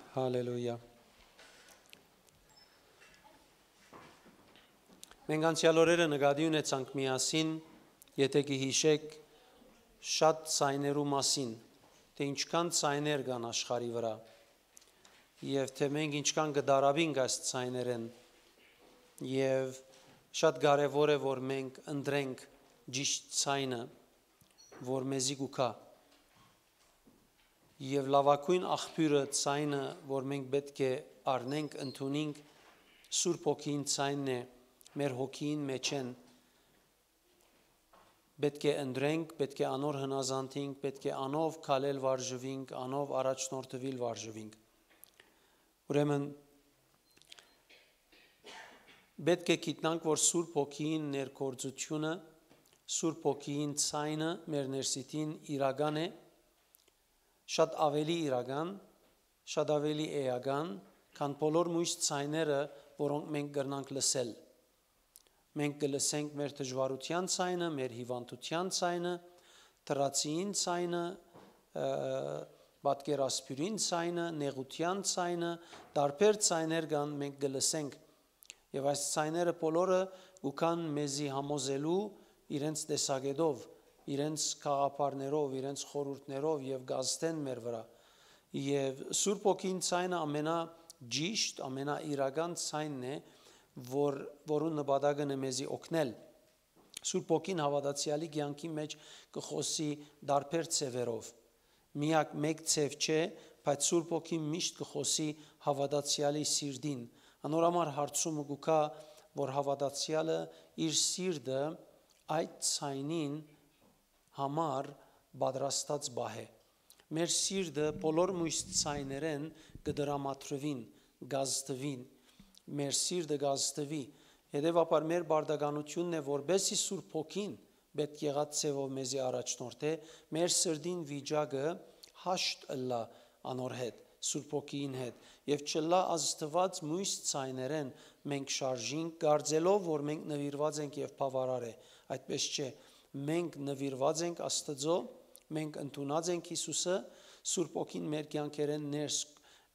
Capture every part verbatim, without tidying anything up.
Հալելույա։ Մենք անցեալ օրերը նկատի ունեցանք միասին, եթե կը յիշէք, շատ ցայներու մասին, թէ ինչքան ցայներ կան աշխարհի վրայ, եւ թէ մենք ինչքան կը դարապինք այս ցայներէն, եւ շատ կարեւոր է, որ մենք ընտրենք ճիշդ ցայնը, որ մեզի կու գայ։ Եւ լաւագոյն աղբիւրը, ցայնը, որ մենք պէտք է առնենք, ընդունինք, Սուրբ Հոգին ցայնն է, մեր հոգիին մէջէն։ Պէտք է ընտրենք, պէտք է անոր հնազանդինք, պէտք է անով քալել վարժուինք, անով առաջնորդուիլ վարժուինք։ Ուրեմն, պէտք է գիտնանք, որ Սուրբ Հոգիին ներգործութիւնը, Սուրբ Հոգիին ցայնը մեր ներսիդին իրական է, շատ աւելի իրական, շատ աւելի էական, քան բոլոր մոյս ցայները, որոնք մենք կրնանք լսել։ Մենք կը լսենք մեր դժուարութեան ցայնը, մեր հիւանդութեան ցայնը, թռացիին ցայնը, ը, պատկերասփիւռին ցայնը, նեղութեան ցայնը, տարբեր ցայներ կան, մենք կը լսենք։ Եւ այս ցայները բոլորը կու գան մեզի համոզելու իրենց տեսակետով, իրենց գաղափարներով, իրենց խորհուրդներով եւ կ'ազդեն մեր վրայ։ Եւ Սուրբ Հոգին ցայնը ամենա ճիշդ, ամենա իրական ցայնն է, որ, որուն նպատակն է մեզի օգնել։ Սուրբ Հոգին հաւատացեալի կեանքի մէջ կը խօսի տարբեր ձեւերով։ Միակ մէկ ձեւ չէ, բայց Սուրբ Հոգին միշտ կը խօսի հաւատացեալի սիրտին։ Անոր համար հարցումը կու գայ, որ հաւատացեալը իր սիրտը այդ ցայնին համար պատրաստած պահէ։ Մեր սիրտը բոլոր մոյս ցայներէն կը դրամատրուին, կ'ազդուին։ Մեր սիրտը կ'ազդուի։ Հետեւաբար մեր պարտականութիւնն է, որպէսզի Սուրբ Հոգին պէտք եղած ձեւով մեզի առաջնորդէ, մեր սրտին վիճակը հաշտ ըլլայ անոր հետ, Սուրբ Հոգիին հետ, եւ չըլլայ ազդուած մոյս ցայներէն մենք շարժինք, կարծելով, որ մենք նուիրուած ենք եւ բաւարար է։ Այդպէս չէ։ Մենք նուիրուած ենք Աստուծոյ, մենք ընդունած ենք Յիսուսը, Սուրբ Հոգին մեր կեանքերէն ներս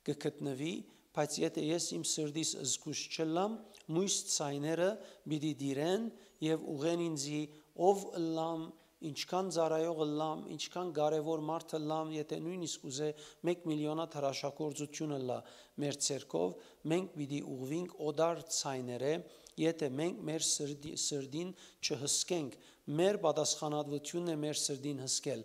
կը գտնուի, բայց եթէ ես իմ սրտիս զգոյշ չըլլամ, մոյս ցայները պիտի տիրեն եւ ուղղեն ինձի, ով ըլլամ, ինչքան ծառայող ըլլամ, ինչքան կարեւոր մարդ ըլլամ, եթէ նոյնիսկ ուզէ մէկ միլիոնա թրաշագործութիւն ըլլայ մեր ձեռքով, մենք պիտի ուղղուինք օտար ցայներէ, եթէ մենք մեր սրտի-, սրտին չհսկենք, մեր պատասխանատվութիւնն է մեր սրտին հսկել։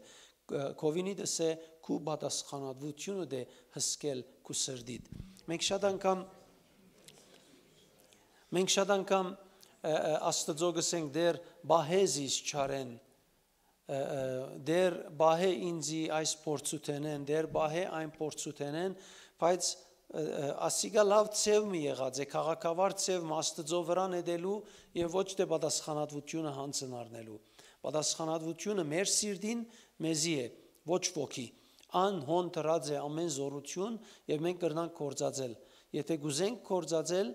Ը, Քովինիդ ըսէ, քու պատասխանատվութիւնդ է հսկել քու սրտիդ։ Մենք շատ անգամ, մենք շատ անգամ, ը, ը, Աստուծոյ կ'ըսենք, «Տէր, պահէ զիս չարէն, ը, ը, Տէր, պահէ ինձի այս փորձութենէն, Տէր, պահէ այն փորձութենէն», բայց, ը, ը, ասիկա լաւ ձեւ մը եղած է, քաղաքավար ձեւ մը Աստուծոյ վրայ նետելու եւ ոչ թէ պատասխանատվութիւնը յանձն առնելու։ Պատասխանատվութիւնը մեր սիրտին մեզի է, ոչ ոքի։ Ան հոն դրած է ամէն զօրութիւն եւ մենք կրնանք գործածել։ Եթէ կ'ուզենք գործածել,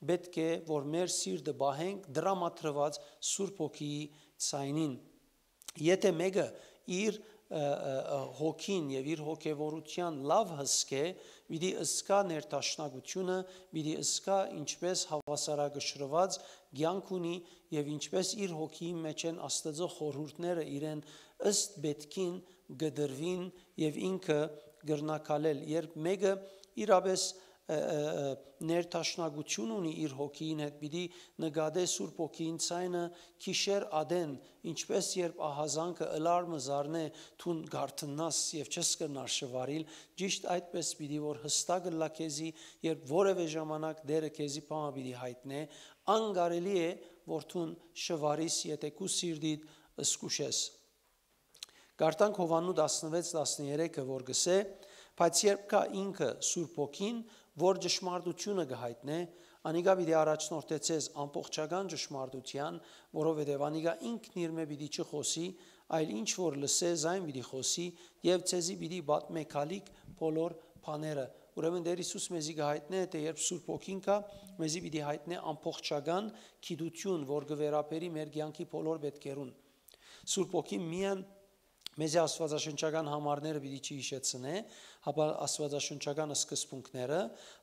պէտք է, որ մեր սիրտը պահենք դրամատրուած Սուրբ Հոգիի ցայնին։ Եթէ մէկը իր, ը, ը, ը, հոգին եւ իր հոգեվորութեան լաւ հսկէ, պիտի ըսկայ ներդաշնակութիւնը, պիտի ըսկայ ինչպէս հաւասարակշռուած կեանք ունի եւ ինչպէս իր հոգիին մէջ են Աստուծոյ խորհուրդները իրեն ըստ պէտքին կը տրուին եւ ինքը կրնայ քալել։ Երբ մէկը իրապէս, ը, ը, ը, ներդաշնակութիւն ունի իր հոգիին հետ, պիտի նկատէ Սուրբ Հոգիին ցայնը գիշեր ատեն, ինչպէս երբ ահազանգը ըլարմը զարնէ, դուն կարթննաս եւ չես կրնար շվարիլ, ճիշդ այդպէս պիտի որ յստակ ըլլայ քեզի, երբ որեւէ ժամանակ Տէրը քեզի բան մը պիտի յայտնէ, անկարելի է որ դուն շվարիս, եթէ քու սիրտիդ զգուշ ես։ Կարդանք Յովհաննու տասնվեց տասներեքը, որ կ'ըսէ. «Բայց երբ գայ ինքը, Սուրբ Հոգին, որ ճշմարտութիւնը կը յայտնէ, անիկա պիտի առաջնորդէ ձեզ ամբողջական ճշմարտութեան, որովհետեւ անիկա ինքն իրմէ պիտի չխօսի, այլ ինչ որ լսէ, զայն պիտի խօսի եւ ձեզի պիտի պատմէ գալիք բոլոր բաները»։ Ուրեմն Տէր Յիսուս մեզի կը յայտնէ, թէ երբ Սուրբ Հոգին գայ, մեզի պիտի յայտնէ ամբողջական գիտութիւն, որ կը վերաբերի մեր կեանքի բոլոր պէտքերուն։ Սուրբ Հոգին միայն մեզի աստուածաշնչական համարները պիտի չի յիշեցնէ, հապա աստուածաշնչական սկզբունքները,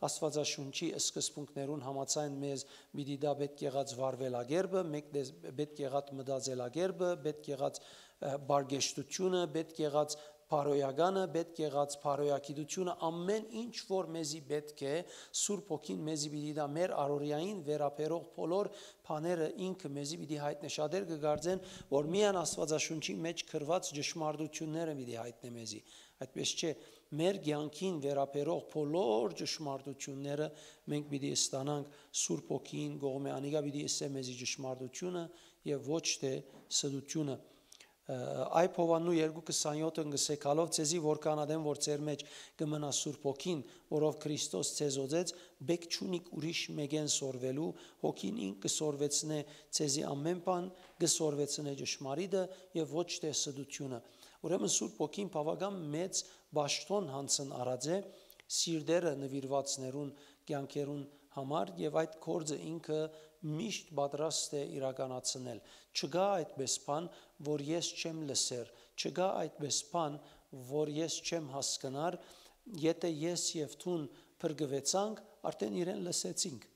Աստուածաշունչի սկզբունքներուն համաձայն մեզ պիտի դա պէտք եղած վարուելակերպը, մէկ դե-, պէտք եղած մտածելակերպը, պէտք եղած, ը, բարգեշտությունը, պէտք եղած բարոյականը, պէտք եղած բարոյագիտությունը, ամէն ինչ որ մեզի պէտք է, Սուրբ Հոգին մեզի պիտի դա մեր առօրեային վերաբերող բոլոր բաները ինքը մեզի պիտի յայտնէ։ Շատեր կը կարծեն, որ միայն Աստուածաշունչի մեջ գրուած ճշմարտությունները պիտի յայտնէ մեզի։ Այդպես չէ, մեր կեանքին վերաբերող բոլոր ճշմարտությունները մենք պիտի ստանանք Սուրբ Հոգին կողմէ, անիկա պիտի ըսէ մեզի ճշմարտությունը եւ ոչ թէ ստությունը։ Ը, Այբ Յովհաննու երկու քսանյոթը կ'ըսէ. «Քալով ձեզի որքան ատեն որ ձեր մեջ կը մնայ Սուրբ Հոգին, որով Քրիստոս ձեզ օծեց, պէք չունիք ուրիշ մէկէն սորվելու, Հոգին ինք կը սորվեցնէ ձեզի ամէն բան, կը սորվեցնէ ճշմարիտը եւ ոչ թէ ստությունը»։ Ուրեմն Սուրբ Հոգին բաւական մեծ պաշտօն յանձն առած է սիրտերը նուիրուածներուն կեանքերուն համար եւ այդ գործը ինքը միշտ պատրաստ է իրականացնել։ Չկայ այդպէս բան, որ ես չեմ լսեր, չկայ այդպէս բան, որ ես չեմ հասկնար, եթե ես եւ դուն փրկուեցանք, արդեն իրեն լսեցինք։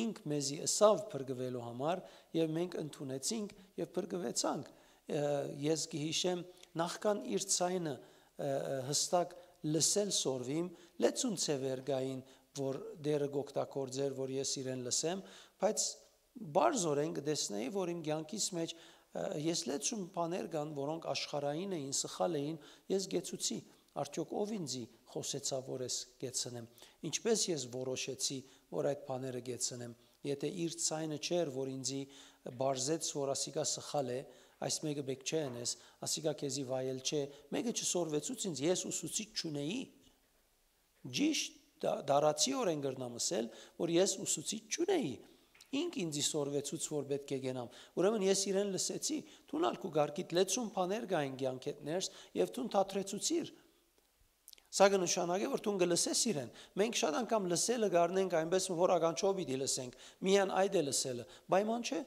Ինք մեզի ըսաւ փրկուելու համար եւ մենք ընդունեցինք եւ փրկուեցանք։ Ը, ես կհիշեմ, նախքան իր ձայնը, ը, ը, հստակ լսել սորվիմ, լեցուն ձեւեր կային, որ Տէրը կօգտագործէր, որ ես իրեն լսեմ, բայց բարձորեն կը տեսնէի, որ իմ կեանքիս մեջ, ը, ես լեցուն բաներ կան, որոնք աշխարհային էին, սխալ էին, ես կեցուցի, արդյոք ով ինձի խօսեցաւ, որ ես կեցնեմ, ինչպէս ես որոշեցի, որ այդ բաները կեցնեմ, եթե իր ձայնը չէր, որ ինձի բարձեց, որ ասիկա սխալ է, այս մէկը պէք չէ ընես, ասիկա քեզի վայել չէ, մէկը չսորվեցուց ինձ, ես ուսուցիչ չունեի։ Ճիշտ դա-, դարացիորեն կրնամ ըսել, որ ես ուսուցիչ չունեի։ Ինք ինձի սորվեցուց, որ պէտք է գնամ։ Ուրեմն ես իրեն լսեցի, դուն ալ քու կարգիդ լեցուն բաներ կային կեանքեդ ներս, եւ դուն դադրեցուցիր։ Սա կը նշանակէ, որ դուն կը լսես իրեն։ Մենք շատ անգամ լսելը կ'առնենք այնպես, որ ականջով պիտի լսենք, միայն այդ է լսելը, պայման չէ։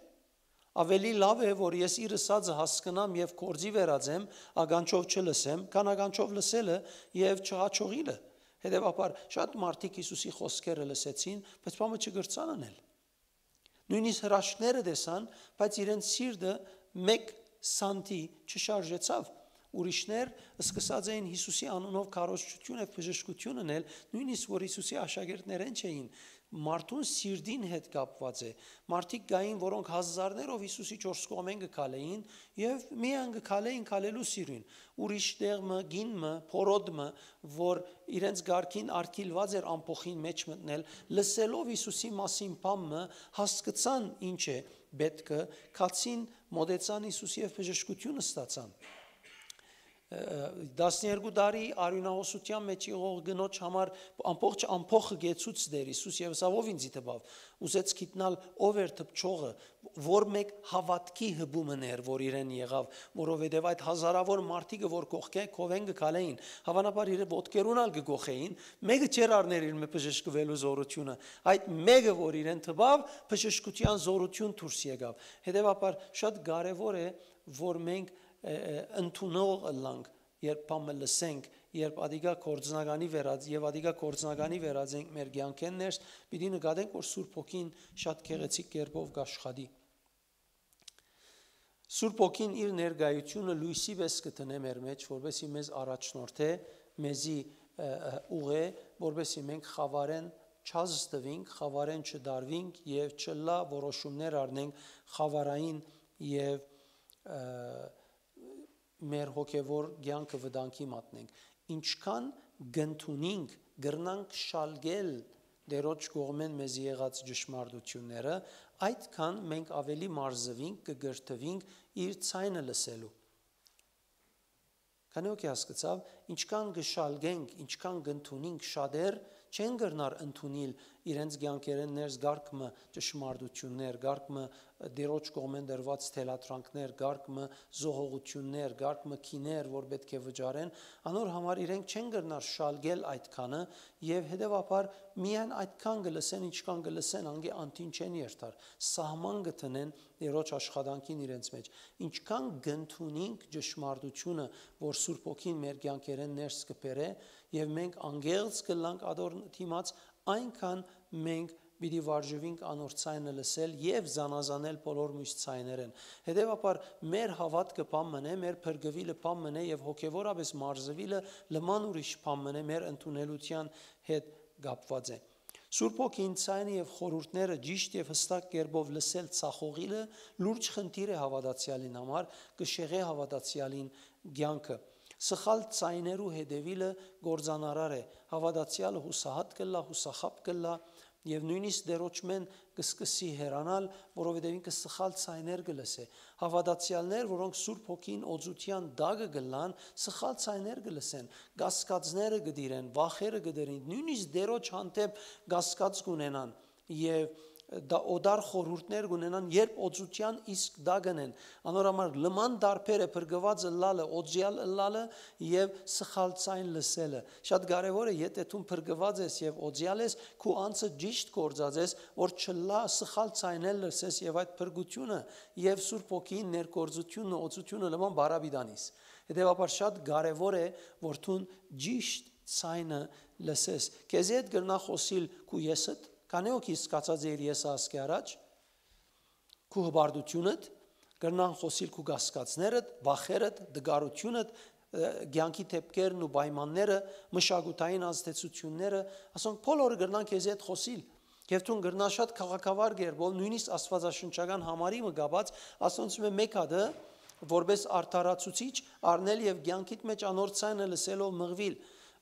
Ավելի լաւ է, որ ես իր ըսածը հասկնամ եւ գործի վերածեմ, ականջով չլսեմ, քան ականջով լսելը եւ չհաջողիլը։ Հետեւաբար, շատ մարդիկ Յիսուսի խօսքերը լսեցին, բայց բանը չկրցան անել։ Նոյնիսկ հրաշքները տեսան, բայց իրենց սիրտը մէկ սանտի չշարժեցաւ։ Ուրիշներ սկսած էին Յիսուսի անունով քարոզչութիւն եւ բժշկութիւն ընել, նոյնիսկ որ Յիսուսի աշակերտներէն չէին։ Մարդուն սիրտին հետ կապուած է։ Մարդիկ կային, որոնք հազարներով Յիսուսի չորս կողմէն կը քալէին եւ միայն կը քալէին քալելու սիրուն։ Ուրիշ տեղ մը, կին մը, փորոտ մը, որ իրենց կարգին արգիլուած էր ամբոխին մեջ մտնել, լսելով Յիսուսի մասին բան մը, հասկցան ինչ է պէտքը, քացին, մօտեցան Յիսուս եւ բժշկութիւն ստացան։ Ը, տասներկու տարի արիւնահոսութեան մեջ եղող կնոջ համար ամբողջ ամբոխը կեցուց Տէր Յիսուս եւ ըսաւ. «Ով ինձի տպաւ»։ Ուզեց գիտնալ ով էր դպչողը, որ մէկ հաւատքի հպումը ներ, որ իրեն եղաւ, որովհետեւ այդ հազարաւոր մարդիկը, որ կողքէ-, քովէն կը քալէին, հաւանաբար իր ոտքերուն ալ կը գոխէին, մէկը չէր առներ իր մէ բժշկուելու զորութիւնը, այդ մէկը, որ իրեն տպաւ, բժշկութեան զորութիւն դուրս եկաւ։ Հետեւաբար շատ կարեւոր է, որ մենք, ը, ը, ընդունող ըլլանք, երբ բան մը լսենք, երբ ադիկա գործնականի վերած-, եւ ադիկա գործնականի վերածենք մեր կեանքէն ներս, պիտի նկատենք, որ Սուրբ Հոգին շատ գեղեցիկ կերպով կ'աշխատի։ Սուրբ Հոգին իր ներկայությունը լոյսի պէս կը դնէ մեր մեջ, որպեսզի մեզ առաջնորդէ, մեզի, ը, ը, ուղղէ, որպեսզի մենք խաւարէն չազդուինք, խաւարէն չդարուինք եւ չլայ որոշումներ առնենք խաւարային եւ, ը, մեր հոգեվոր կեանքը վտանգի մատնենք։ Ինչքան կ'ընդունինք, կրնանք շալկել Տէրոջ կողմէն մեզի եղած ճշմարտությունները, այդքան մենք ավելի մարզուինք, կը կրթուինք իր ձայնը լսելու։ Քանի՞ հոգի հասկցաւ, ինչքան կը շալկենք, ինչքան կ'ընդունինք, շատեր չեն կրնար ընդունիլ իրենց կեանքերէն ներս կարգ մը ճշմարտութիւններ, կարգ մը Տիրոջ կողմէն տրուած թելադրանքներ, կարգ մը զոհողութիւններ, կարգ մը գիներ, որ պէտք է վճարեն, անոր համար իրենք չեն կրնար շալկել այդքանը եւ հետեւաբար միայն այդքան կը լսեն, ինչքան կը լսեն, անկէ անդին չեն երթար, սահման կը դնեն Տիրոջ աշխատանքին իրենց մէջ։ Ինչքան կընդունինք ճշմարտութիւնը, որ Սուրբ Հոգին մեր կեանքերէն ներս կը բերէ եւ մենք անկեղծ կ'ըլլանք ադոր դիմաց, այնքան մենք պիտի վարժուինք անոր ձայնը լսել եւ զանազանել բոլոր մյուս ձայներէն։ Հետեւաբար մեր հաւատքը բան մըն է, մեր փրկուիլը բան մըն է եւ հոգեւորապէս մարզուիլը լման ուրիշ բան մըն է, մեր ընդունելութեան հետ կապուած է։ Սուրբ Հոգին ձայնը եւ խորհուրդները ճիշտ եւ յստակ կերպով լսել, ցախողիլը լուրջ խնդիր է հաւատացեալին համար, կը շեղէ հաւատացեալին կեանքը։ Սխալ ձայներու հետեւիլը կործանարար է, հաւատացեալը յուսահատ կ'ըլլայ, յուսախաբ կ'ըլլայ եւ նոյնիսկ Տիրոջմէն կը սկսի հեռանալ, որովհետեւ ինքը սխալ ձայներ կը լսէ։ Հաւատացեալներ, որոնք Սուրբ Հոգին օծութեան տակը կ'ըլլան, սխալ ձայներ կը լսեն, կասկածները կը տիրեն, վախերը կը տիրին, նոյնիսկ Տիրոջ հանդէպ կասկած կ'ունենան եւ դա օտար խորհուրդներ կ'ունենան, երբ օծութեան իսկ տակն են։ Անոր համար լման տարբեր է փրկուած ըլլալը, օծեալ ըլլալը եւ սխալ ձայն լսելը։ Շատ կարեւոր է, եթե դուն փրկուած ես եւ օծեալ ես, քու անձը ճիշտ գործած ես, որ չլա սխալ ձայներ լսես եւ այդ փրկութիւնը եւ Սուրբ Հոգին ներգործութիւնը, օծութիւնը լման բարապիտանիս։ Հետեւաբար շատ կարեւոր է, որ դուն ճիշտ ձայնը լսես։ Քեզի հետ կրնա խօսիլ քու եսդ, քանի՞ հոգի սկացած է իր եսը ասկէ առաջ, քու հպարտութիւնդ, կրնան խօսիլ քու կասկածներդ, վախերդ, տկարութիւնդ, ը, կեանքի դէպքերն ու պայմանները, մշակութային ազդեցութիւնները, ասոնք բոլորը կրնան քեզի հետ խօսիլ։ Եւ դուն կրնաս շատ քաղաքավար կերպով, նոյնիսկ աստվածաշնչական համարի մը կապած, ասոնցմէ մէկ հատը, որպէս արդարացուցիչ, առնել եւ կեանքիդ մէջ անոր ձայնը լսելով մղուիլ,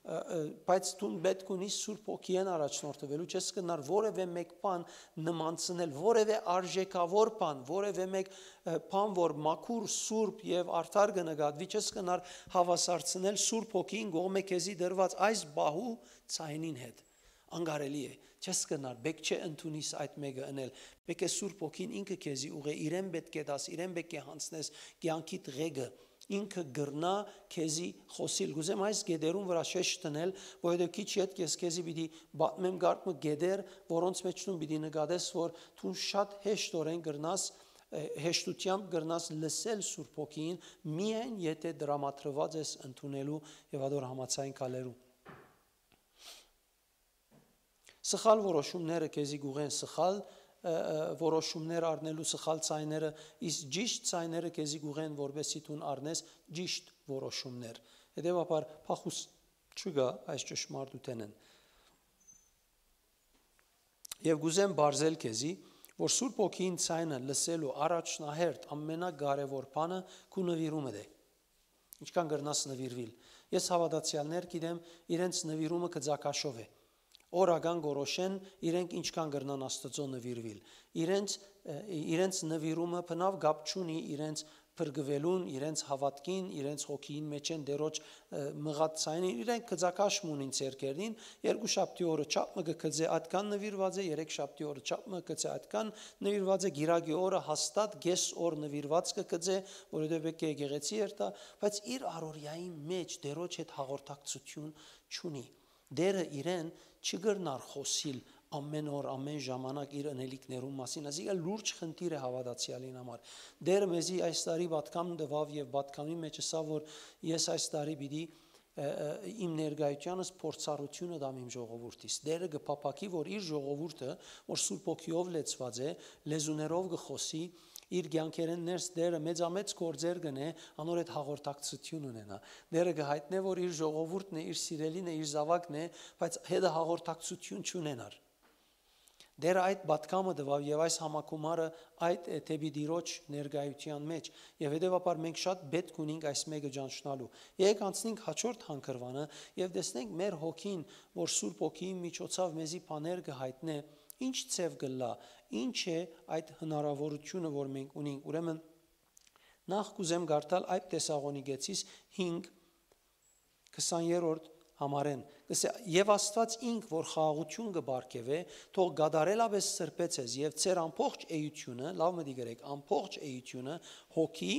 ը, ը, բայց դուն պէտք ունիս Սուրբ Հոգիէն առաջնորդուելու, չես կրնար որեւէ մէկ բան նմանցնել, որեւէ արժեքաւոր բան, որեւէ մէկ, ը, բան, որ մաքուր, սուրբ եւ արդար կը նկատուի, չես կրնար հաւասարցնել Սուրբ Հոգին կողմէ քեզի տրուած այս բահու ձայնին հետ։ Անկարելի է, չես կրնար, պէտք չէ ընդունիս այդ մէկը ընել, պէտք է Սուրբ Հոգին ինքը քեզի ուղղէ, իրեն պէտք է տաս, իրեն պէտք է յանցնես կեանքիդ ղեկը, ինքը կրնայ քեզի խօսիլ։ Կ'ուզեմ այս կետերուն վրայ շեշտ դնել, որովհետեւ քիչ ետք ես քեզի պիտի պատմեմ կարգ մը կետեր, որոնց մէջ դուն պիտի նկատես, որ դուն շատ հեշտօրէն կրնաս, ը, հեշտութեամբ կրնաս լսել Սուրբ Հոգիին, միայն եթե տրամադրուած ես ընդունելու եւ ադոր համաձայն գալերու։ Սխալ որոշումները քեզի կ'ուղեն սխալ, ը, ը, որոշումներ առնելու, սխալ ձայները, իսկ ճիշտ ձայները քեզի կ'ուղեն, որպեսզի դուն առնես ճիշտ որոշումներ։ Հետեւաբար փախուստ չկայ այս ճշմարտութենէն։ Եւ կ'ուզեմ պարզել քեզի, որ Սուրբ Հոգիին ձայնը լսելու առաջնահերթ ամենակարեւոր բանը քու նուիրումդ է։ Ինչքան կրնաս նուիրուիլ։ Ես հաւատացեալներ գիտեմ, իրենց նուիրումը գծակաշով է։ Օրական կորոշեն իրենք ինչքան կրնան Աստուծոյ նուիրուիլ։ Իրենց, ը, իրենց նուիրումը բնաւ կապ չունի իրենց փրկուելուն, իրենց հաւատքին, իրենց հոգիին մէջ են Տիրոջ, ը, մղած ձայնին, իրենք գծակաշ մը ունին ձեռքերնին, երկու շաբթի օրը չափ մը կը գծէ, այդքան նուիրուած է, երեք շաբթի օրը չափ մը գծէ, այդքան նուիրուած է, գիրագի օրը հաստատ կես օր նուիրուած կը գծէ, որովհետեւ պէտք է եկեղեցի երթայ, բայց իր առօրեային մէջ Տիրոջ հետ հաղորդակցութիւն չունի։ Տերը իրեն չի կրնար խօսիլ ամէն օր, ամէն ժամանակ իր ընելիքներուն մասին, այսինքն լուրջ խնդիր է հաւատացեալին համար։ Տերը մեզի այս տարի պատգամ տուաւ եւ պատգամի մէջ ըսաւ, որ ես այս տարի պիտի, ը, ը, իմ ներկայութեանս փորձառութիւնը տամ իմ ժողովուրդիս։ Տերը կը փափաքի, որ իր ժողովուրդը, որ Սուրբ Հոգիով լեցուած է, լեզուներով կը խօսի, իր կեանքերէն ներս Տերը մեծամեծ գործեր կ'ընէ, անոր հետ հաղորդակցութիւն ունենայ։ Տերը կը յայտնէ, որ իր ժողովուրդն է, իր սիրելին է, իր զաւակն է, բայց հետը հաղորդակցութիւն չունենար։ Տերը այդ պատգամը տուաւ եւ այս համագումարը այդ է դէպի Տիրոջ ներկայութեան մէջ, եւ հետեւաբար մենք շատ պէտք ունենք այս մէկը ճանչնալու։ Եկեք անցնենք հաջորդ հանգրուանը եւ տեսնենք մեր հոգին, որ Սուրբ Հոգիին միջոցաւ մեզի բաներ կը յայտնէ, ինչ ձեւ կ'ըլլայ, ինչ է այդ հնարաւորութիւնը, որ մենք ունենք։ Ուրեմն, նախ կ'ուզեմ կարդալ այդ Թեսաղոնիկեցիս հինգ, քսաներորդ համարէն։ Կսե, «Եւ Աստուած ինք, որ խաղաղութիւն կը պարգեւէ, թող կատարելապէս սրբէ ձեզ, եւ ձեր ամբողջ էությունը, լաւ մտիկ ըրէք, ամբողջ էությունը, հոգի,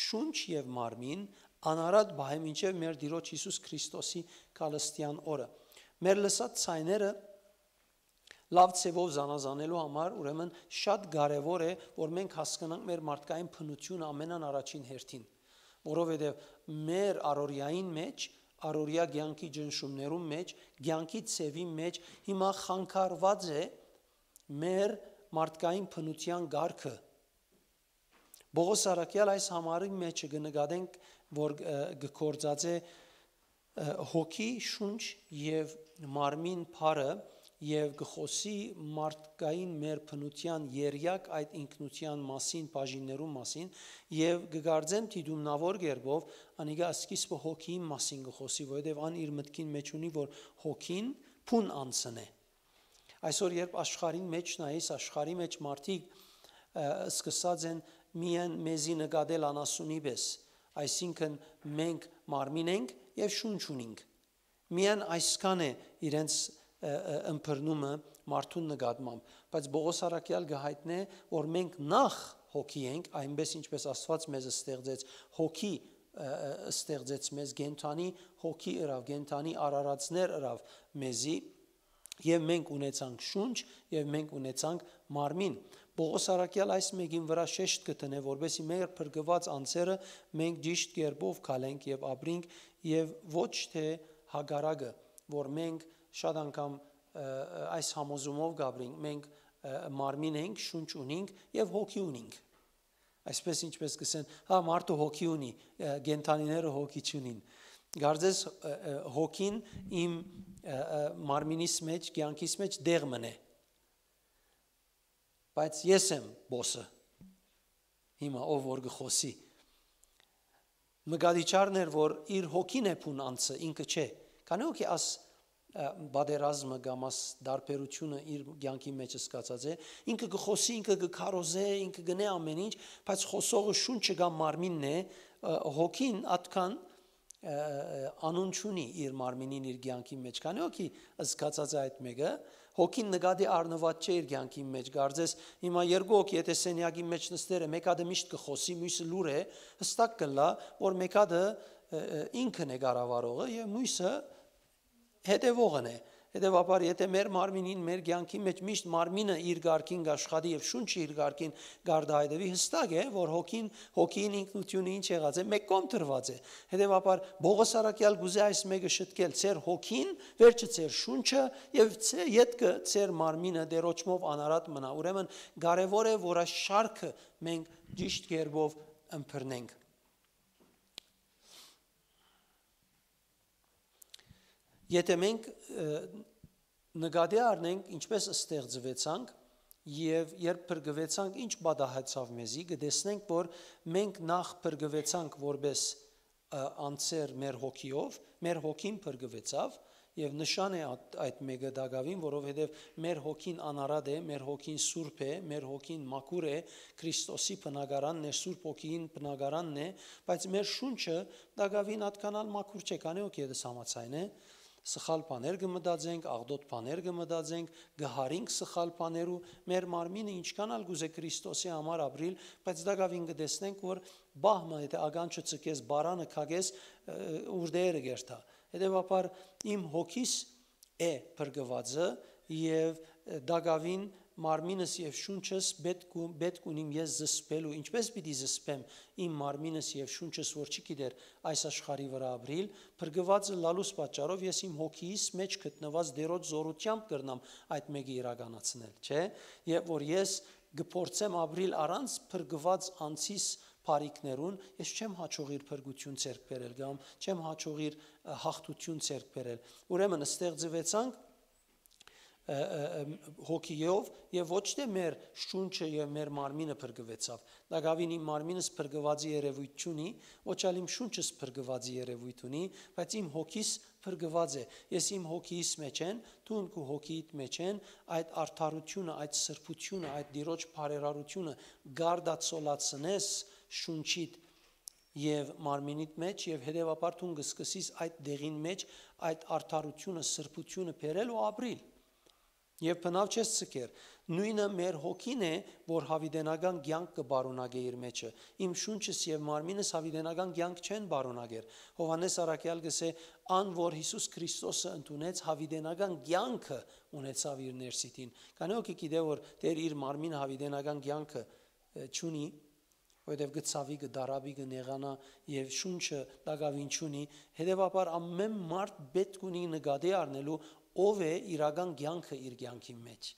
շունչ եւ մարմին, անարատ պահէ մինչեւ մեր Տիրոջ Յիսուս Քրիստոսի գալստեան օրը»։ Մեր լսած ցայները լաւ ձեւով զանազանելու համար, ուրեմն, շատ կարեւոր է, որ մենք հասկնանք մեր մարդկային բնութիւնը ամենան առաջին հերթին, որովհետեւ մեր առօրեային մէջ, առօրեայ կեանքի ճնշումներուն մէջ, կեանքի ձեւի մէջ հիմա խանգարուած է մեր մարդկային բնութեան կարգը։ Պողոս առաքեալ այս համարի մէջ կը նկատենք, որ, ը, կը գործածէ, ը, հոգի, շունչ եւ մարմին բառը, եւ կը խօսի մարդկային մեր բնութեան երեակ այդ ինքնութեան մասին, բաժիններուն մասին, եւ կը կարծեմ դիտումնաւոր կերպով անիկա սկիզբը հոգիին մասին կը խօսի, որովհետեւ ան իր մտքին մէջ ունի, որ հոգին բուն անձն է։ Այսօր երբ աշխարհին մէջ նայես, աշխարհի մէջ մարդիկ, ը, սկսած են միայն մեզի նկատել անասունի պէս, այսինքն մենք մարմին ենք եւ շունչ ունինք։ Միայն այսքան է իրենց, ը, ը, ըմբռնումը մարդուն նկատմամբ, բայց Պողոս առաքեալ կը հայտնէ, որ մենք նախ հոգի ենք, այնպես ինչպես Աստուած մեզ ստեղծեց հոգի, ը, ը, ստեղծեց մեզ, կենդանի հոգի ըրաւ, կենդանի արարածներ ըրաւ մեզի, եւ մենք ունեցանք շունչ, եւ մենք ունեցանք մարմին։ Պողոս առաքեալ այս մէկին վրայ շեշտ կը դնէ, որպեսզի մեր փրկուած անձերը մենք ճիշդ կերպով քալենք եւ ապրինք, եւ ոչ թէ հակառակը, որ մենք շատ անգամ, ը, ը, այս համոզումով կապրինք, մենք, ը, մարմին ենք, շունչ ունինք եւ հոգի ունինք։ Այսպես ինչպես կսեն, հա, մարդը հոգի ունի, ը, կենդանիները հոգի չունին։ Կարծես, ը, ը, հոգին իմ, ը, ը, մարմինիս մեջ, կեանքիս մեջ դեղ մնէ։ Բայց ես եմ բոսը։ Հիմա ով որ կը խօսի։ Մկադիչարն էր, որ իր հոգին է բուն անձը, ինքը չէ։ Քանի հոգի աս, ը, պատերազմը կամ աս տարբերությունը իր կեանքի մեջ սկացած է, ինքը կը խօսի, ինքը կը քարոզէ, ինքը կնե ամեն ինչ, բայց խօսողը շունչը կամ մարմինն է, ը, հոգին ատկան, ը, ը, անուն չունի իր մարմինին, իր կեանքի մեջ։ Քանի հոգի սկացած է այդ մեկը, հոգին նկատի առնուած չէ իր կեանքի մեջ։ Կարծես հիմա երկու հոգի, եթե սենյակի մեջ նստեր է, մեկը միշտ կը խօսի, մյուսը լուր է, հստակ կլա, որ մեկը, ը, ը, ինքն է կառավարողը եւ մյուսը հետեւողն է։ Հետեւաբար, եթե մեր մարմինին, մեր կեանքի մեջ միշտ մարմինը իր կարգին կաշխատի եւ շունչը իր կարգին կարտահայտվի, հստակ է, որ հոգին, հոգին ինքնությունը ինչ եղած է, մեկ կողմ դրուած է։ Հետեւաբար, Պողոս առաքեալ կուզէ այս մեկը շտկել, ձեր հոգին, վերջը ձեր շունչը եւ ձե-, ետքը ձեր մարմինը դերոճմով անարատ մնայ։ Ուրեմն, կարեւոր է, որ այս շարքը մենք ճիշտ կերպով ըմբռնենք։ Եթե մենք, ը, նկատի առնենք, ինչպես ստեղծուեցանք եւ երբ փրկուեցանք, ինչ պատահեցաւ մեզի, կտեսնենք, որ մենք նախ փրկուեցանք որպես, ը, անձեր մեր հոգիով, մեր հոգին փրկուեցաւ, եւ նշան է այդ, այդ մեկը տակաւին, որովհետեւ մեր հոգին անարատ է, մեր հոգին սուրբ է, մեր հոգին մաքուր է, Քրիստոսի բնակարանն է, Սուրբ Հոգին բնակարանն է, բայց մեր շունչը տակաւին ատկանալ մաքուր չէ, քանի հոգի ետս համաձայն է, սխալ բաներ կը մտածենք, աղտոտ բաներ կը մտածենք, կը հարինք սխալ բաներու, մեր մարմինը ինչքան ալ կուզէ Քրիստոսի համար ապրիլ, բայց տակաւին կտեսնենք, որ բահ մը, եթե ականջը ցկես, բարանը քակես, ը, ուրդերը կերթայ։ Հետեւաբար իմ հոգիս է փրկուածը եւ, ը, տակաւին մարմինս եւ շունչս պետք ու, պետք ունիմ ես զսպելու։ Ինչպես պիտի զսպեմ իմ մարմինս եւ շունչս, որ չի գիտեր այս աշխարհի վրայ ապրիլ, փրկուածը լալուս պատճառով ես իմ հոգիս մեջ գտնուած դերոջ զորութեամբ կրնամ այդ մեկը իրականացնել, չէ՞։ Երբ որ ես կփորձեմ ապրիլ առանց փրկուած անձիս բարիքներուն, ես չեմ հաջողիր փրկություն ձեռք բերել կամ չեմ հաջողիր, ը, հաղթություն ձեռք բերել։ Ուրեմն ստեղծվեցանք, ը, ը, ը, հոգիով եւ ոչ թե մեր շունչը եւ մեր մարմինը փրկվեցաւ։ Տակաւին իմ մարմինս փրկուածի երևույթ չունի, ոչ ալ իմ շունչս փրկուածի երևույթ ունի, բայց իմ հոգիս փրկված է։ Ես իմ հոգիս մեջ են, դուն քու հոգիիդ մեջ են, այդ արդարությունը, այդ սրբությունը, այդ Տիրոջ բարերարությունը գարդացոլացնես շունչիդ եւ մարմինիդ մեջ, եւ հետեւաբար դուն կը սկսես այդ դեղին մեջ այդ արդարութիւնը, սրբութիւնը բերել ու ապրիլ։ Եւ բնաւ չես ցկեր։ Նոյնը մեր հոգին է, որ յաւիտենական կեանք կը պարունակէ իր մեջը։ Իմ շունչս եւ մարմինս յաւիտենական կեանք չեն պարունակեր։ Յովհաննէս առաքեալ կ'ըսէ. «Ան, որ Յիսուս Քրիստոսը ընդունեց, յաւիտենական կեանքը ունեցաւ իր ներսիդին»։ Քանի՞ հոգի գիտէ, որ Տէր իր մարմինը յաւիտենական կեանքը, ը, չունի, որովհետեւ կը ցաւի, կը դարապի, կը նեղանայ եւ շունչը տակաւին չունի, հետեւաբար ամէն մարդ պէտք ունի նկատի առնելու ով է իրական կեանքը իր կեանքին մեջ,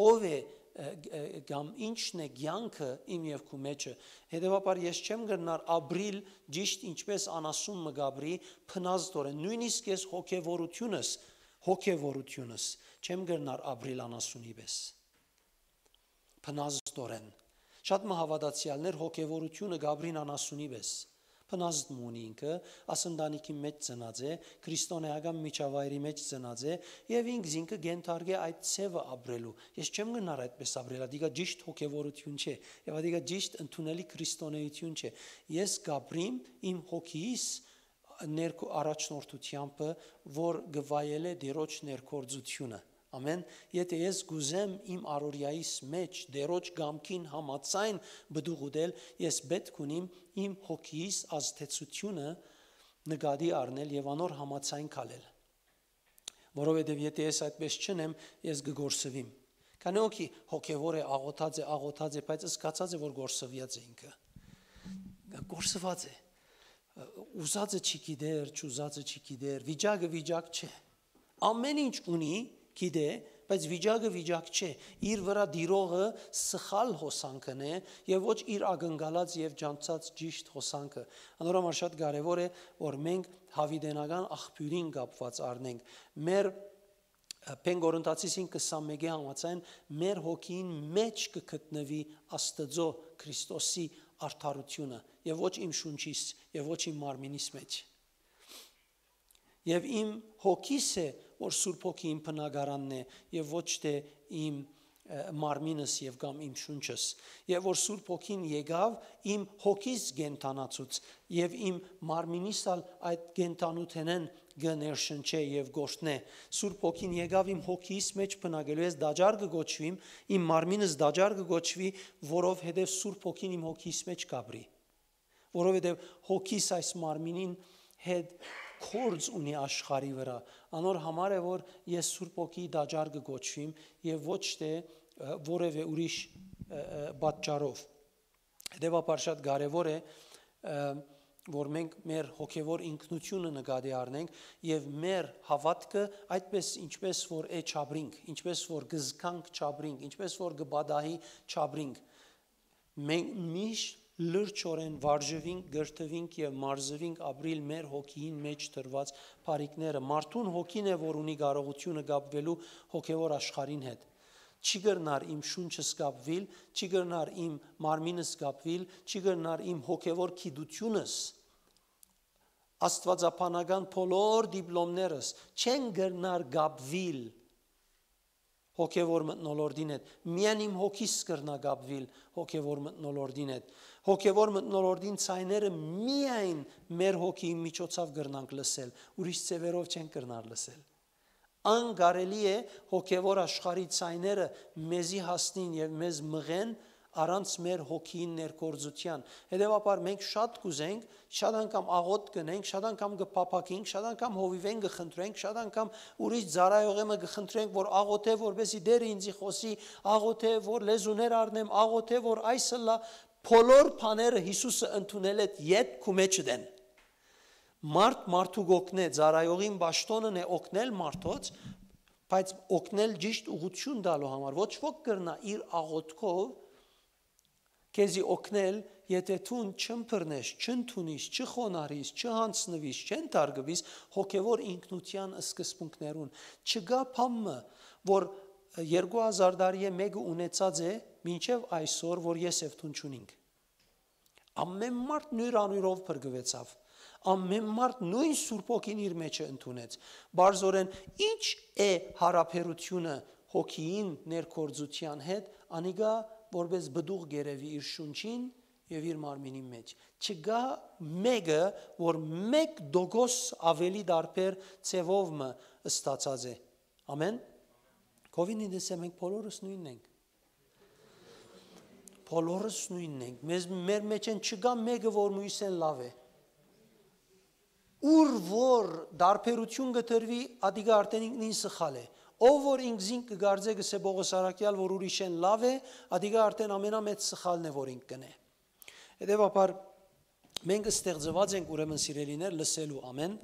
ով է, ը, ը, կամ ինչն է կեանքը իմ եւ քու մեջը։ Հետեւաբար ես չեմ կրնար ապրիլ ճիշդ ինչպես անասուն մը կ'ապրի, փնազդորեն, նոյնիսկ ես հոգեվորութիւնս, հոգեվորութիւնս չեմ կրնար ապրիլ անասունի պէս, փնազդորեն։ Շատ մը հաւատացեալներ հոգեվորութիւնը կ'ապրին անասունի պէս։ Փնազդ մը ունի ինքը, աս ընտանիքի մեջ ծնած է, քրիստոնեական միջավայրի մեջ ծնած է, եւ ինք զինքը կ'ենթարկէ այդ ձեւը ապրելու։ Ես չեմ կրնար այդպես ապրել, ատիկա ճիշդ հոգեվորութիւն չէ, եւ ատիկա ճիշդ ընդունելի քրիստոնեութիւն չէ։ Ես կ'ապրիմ իմ հոգիս ներքո առաջնորդութեամբը, որ կը վայելէ Տիրոջ ներգործութիւնը։ Ամէն։ Եթէ ես կ'ուզեմ իմ առօրեայիս մեջ Տիրոջ կամքին համաձայն պտուղ ուտել, ես պէտք ունիմ իմ հոգիս ազդեցութիւնը նկատի առնել եւ անոր համաձայն քալել։ Որովհետեւ եթէ ես այդպես չընեմ, ես կը կորսուիմ։ Քանի՞ հոգի հոգեվոր է, աղոթած է, աղոթած է, բայց զգացած է, որ կորսուած է ինքը։ Կորսուած է։ Ուզածը չի գիտեր, չուզածը չի գիտեր, վիճակը վիճակ չէ։ Ամէն ինչ ունի, գիտէ, բայց վիճակը վիճակ չէ։ Իր վրայ տիրողը սխալ հոսանքն է եւ ոչ իր ակնկալած եւ ճանչցած ճիշտ հոսանքը։ Անոր համար շատ կարեւոր է, որ մենք յաւիտենական աղբիւրին կապուած առնենք։ Մեր, ը, Փեն Կորինթացիին քսանմէկի համաձայն, մեր հոգին մեջ կը գտնուի Աստուծոյ Քրիստոսի արդարութիւնը, եւ ոչ իմ շունչիս, եւ ոչ իմ մարմինիս մեջ։ Եւ իմ հոգիս է, որ Սուրբ Հոգի իմ բնակարանն է, եւ ոչ թէ իմ, ը, մարմինս եւ կամ իմ շունչս, եւ որ Սուրբ Հոգին եկաւ, իմ հոգիս կենդանացուց, եւ իմ մարմինիս ալ այդ կենդանութենէն կը ներշնչէ եւ կ'օրհնէ։ Սուրբ Հոգին եկաւ իմ հոգիս մեջ բնակելու, ես տաճար կը կոչուիմ, իմ մարմինս տաճար կը կոչուի, որովհետեւ Սուրբ Հոգին իմ հոգիս մեջ կ'ապրի։ Որովհետեւ հոգիս այս մարմինին հետ գործ ունի աշխարհի վրայ։ Անոր համար է, որ ես Սուրբ Հոգիի տաճար կը կոչուիմ եւ ոչ թէ, ը, որեւէ ուրիշ, ը, ը, պատճառով։ Հետեւաբար շատ կարեւոր է, ը, որ մենք մեր հոգեվոր ինքնութիւնը նկատի առնենք եւ մեր հաւատքը այդպես, ինչպես որ է, չապրինք, ինչպես որ կը զգանք, չապրինք, ինչպես որ կը պատահի, չապրինք։ Մենք միշտ լրջորեն վարժուինք, կրթուինք եւ մարզուինք ապրիլ մեր հոգիին մեջ դրուած բարիքները։ Մարդուն հոգին է, որ ունի կարողութիւնը կապուելու հոգեվոր աշխարհին հետ։ Չի կրնար իմ շունչս կապուիլ, չի կրնար իմ մարմինս կապուիլ, չի կրնար իմ հոգեվոր գիտութիւնս, աստուածաբանական բոլոր դիպլոմներս չեն կրնար կապուիլ հոգեվոր մթնոլորտին հետ։ Միայն իմ հոգիս կրնայ կապուիլ հոգեվոր մթնոլորտին հետ։ Հոգեվոր մթնոլորտին ձայները միայն մեր հոգիի միջոցով կրնանք լսել, ուրիշ ձեւերով չենք կրնար լսել։ Անկարելի է հոգեվոր աշխարհի ձայները մեզի հասնին եւ մեզ մղեն առանց մեր հոգիին ներգործութեան։ Հետեւաբար մենք շատ կ'ուզենք, շատ անգամ աղօթք կ'ընենք, շատ անգամ կը փափաքենք, շատ անգամ հովիվէն կը խնդրենք, շատ անգամ ուրիշ ծառայողէ մը կը խնդրենք, որ աղօթէ, որպեսզի Տէրը ինծի խօսի, աղօթէ, որ լեզուներ առնեմ, աղօթէ, որ այս ըլլայ, բոլոր բաները Յիսուսը ընդունել է, յետ քու մեջդ են։ Մարդ մարդու կ'օգնէ, ծառայողին պաշտօնն է օգնել մարդոց, բայց օգնել ճիշտ ուղղութիւն տալու համար։ Ոչ ոք կրնայ իր աղօթքով քեզի օգնել, եթէ դուն չըմբռնես, չընդունիս, չխոնարհիս, չյանձնուիս, չենթարկուիս հոգեվոր ինքնութեան սկզբունքներուն։ Չկայ բան մը, որ երկու հազար տարի է մէկը ունեցած է, մինչեւ այսօր, որ ես եւ դուն չունինք։ Ամէն մարդ նոյր անոյրով փրկուեցաւ։ Ամէն մարդ նոյն Սուրբ Հոգին իր մեջը ընդունեց։ Բարձորեն, ի՞նչ է յարաբերութիւնը հոգիին ներգործութեան հետ, անիկա որպէս պտուղ կ'երեւի իր շունչին, եւ իր մարմինին մէջ։ Չկայ մէկը, որ մէկ տոկոս աւելի տարբեր ձեւով մը ստացած է։ Ամեն։ Կովին ինձ, մենք բոլորս նույնն ենք։ Բոլորս նույնն ենք։ Մեզ, մեր մեջ են չկայ մէկը, որ մյուսէն լաւ է։ Ուր որ տարբերություն կը տրուի, ադիկա արդեն ինքնին սխալ է։ Ով որ ինքզին կը կարծէ, կսե Պողոս Արաքեալ, որ ուրիշէն լաւ է, ադիկա արդեն ամենամեծ սխալն է, որ ինք կնե։ Հետեւաբար, մենք ստեղծուած ենք, ուրեմն, սիրելիներ, լսելու, ամեն։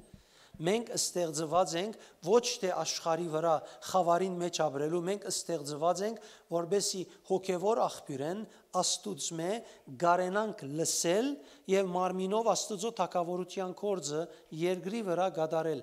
Մենք ստեղծուած ենք ոչ թէ աշխարհի վրայ խաւարին մէջ ապրելու, մենք ստեղծուած ենք, որպեսզի հոգեվոր աղբիւրէն, Աստուծմէ, կարենանք լսել եւ մարմինով Աստուծոյ թագաւորութեան գործը երկրի վրայ կատարել։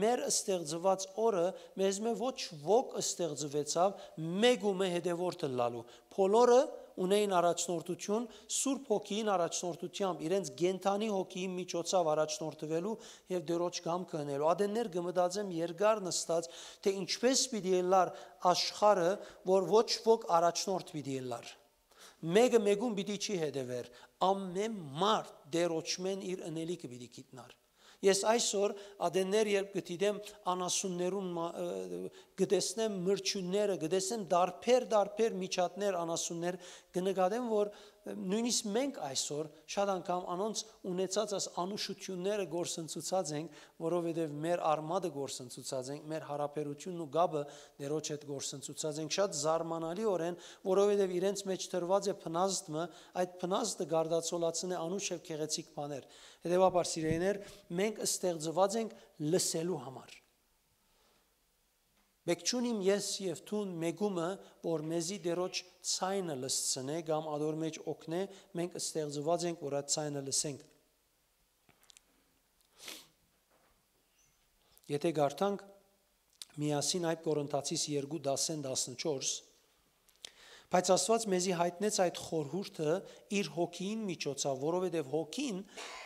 Մեր ստեղծուած օրը մեզմէ ոչ ոք ստեղծուեցաւ մէկ ու մը հետեւորդ ըլլալու։ Բոլորը ունէին առաջնորդութիւն, Սուրբ Հոգիին առաջնորդութեամբ, իրենց կենդանի հոգիին միջոցաւ առաջնորդուելու եւ Տիրոջ կամքը ընելու։ Ատեններ կը մտածեմ երկար նստած, թէ ինչպէս պիտի ըլլար աշխարհը, որ ոչ ոք առաջնորդ պիտի ըլլար։ Մէկը մէկուն պիտի չի հետեւեր, ամէն մարդ Տիրոջմէն իր ընելիքը պիտի գիտնար։ Ես այսօր ատեններ երբ կը դիտեմ անասուններուն մա-, ը, կը տեսնեմ մրջիւնները, կը տեսնեմ տարբեր, տարբեր միջատներ, անասուններ, կը նկատեմ, որ, ը, նոյնիսկ մենք այսօր շատ անգամ անոնց ունեցած այս անուշութիւնները գործընծուցած ենք, որովհետեւ մեր արմատը գործընծուցած ենք, մեր յարաբերութիւնն ու կապը Տիրոջ հետ գործընծուցած ենք շատ զարմանալիօրէն, որովհետեւ իրենց մէջ տրուած է փնազդ մը, այդ փնազդը կարտացոլացնէ անուշ եւ գեղեցիկ բաներ։ Հետեւաբար, սիրելիներ, մենք ստեղծուած ենք լսելու համար։ Մէկ չունիմ ես եւ դուն մէկումը, որ մեզի Տիրոջ ձայնը լսցնէ կամ ադոր մէջ օգնէ, մենք ստեղծուած ենք, որ այդ ձայնը լսենք։ Եթե կարդանք միասին այդ Կորինթացիս երկու դասեն տասնչորս, բայց Աստուած մեզի յայտնեց այդ խորհուրդը իր հոգիին միջոցաւ, որովհետեւ հոգին,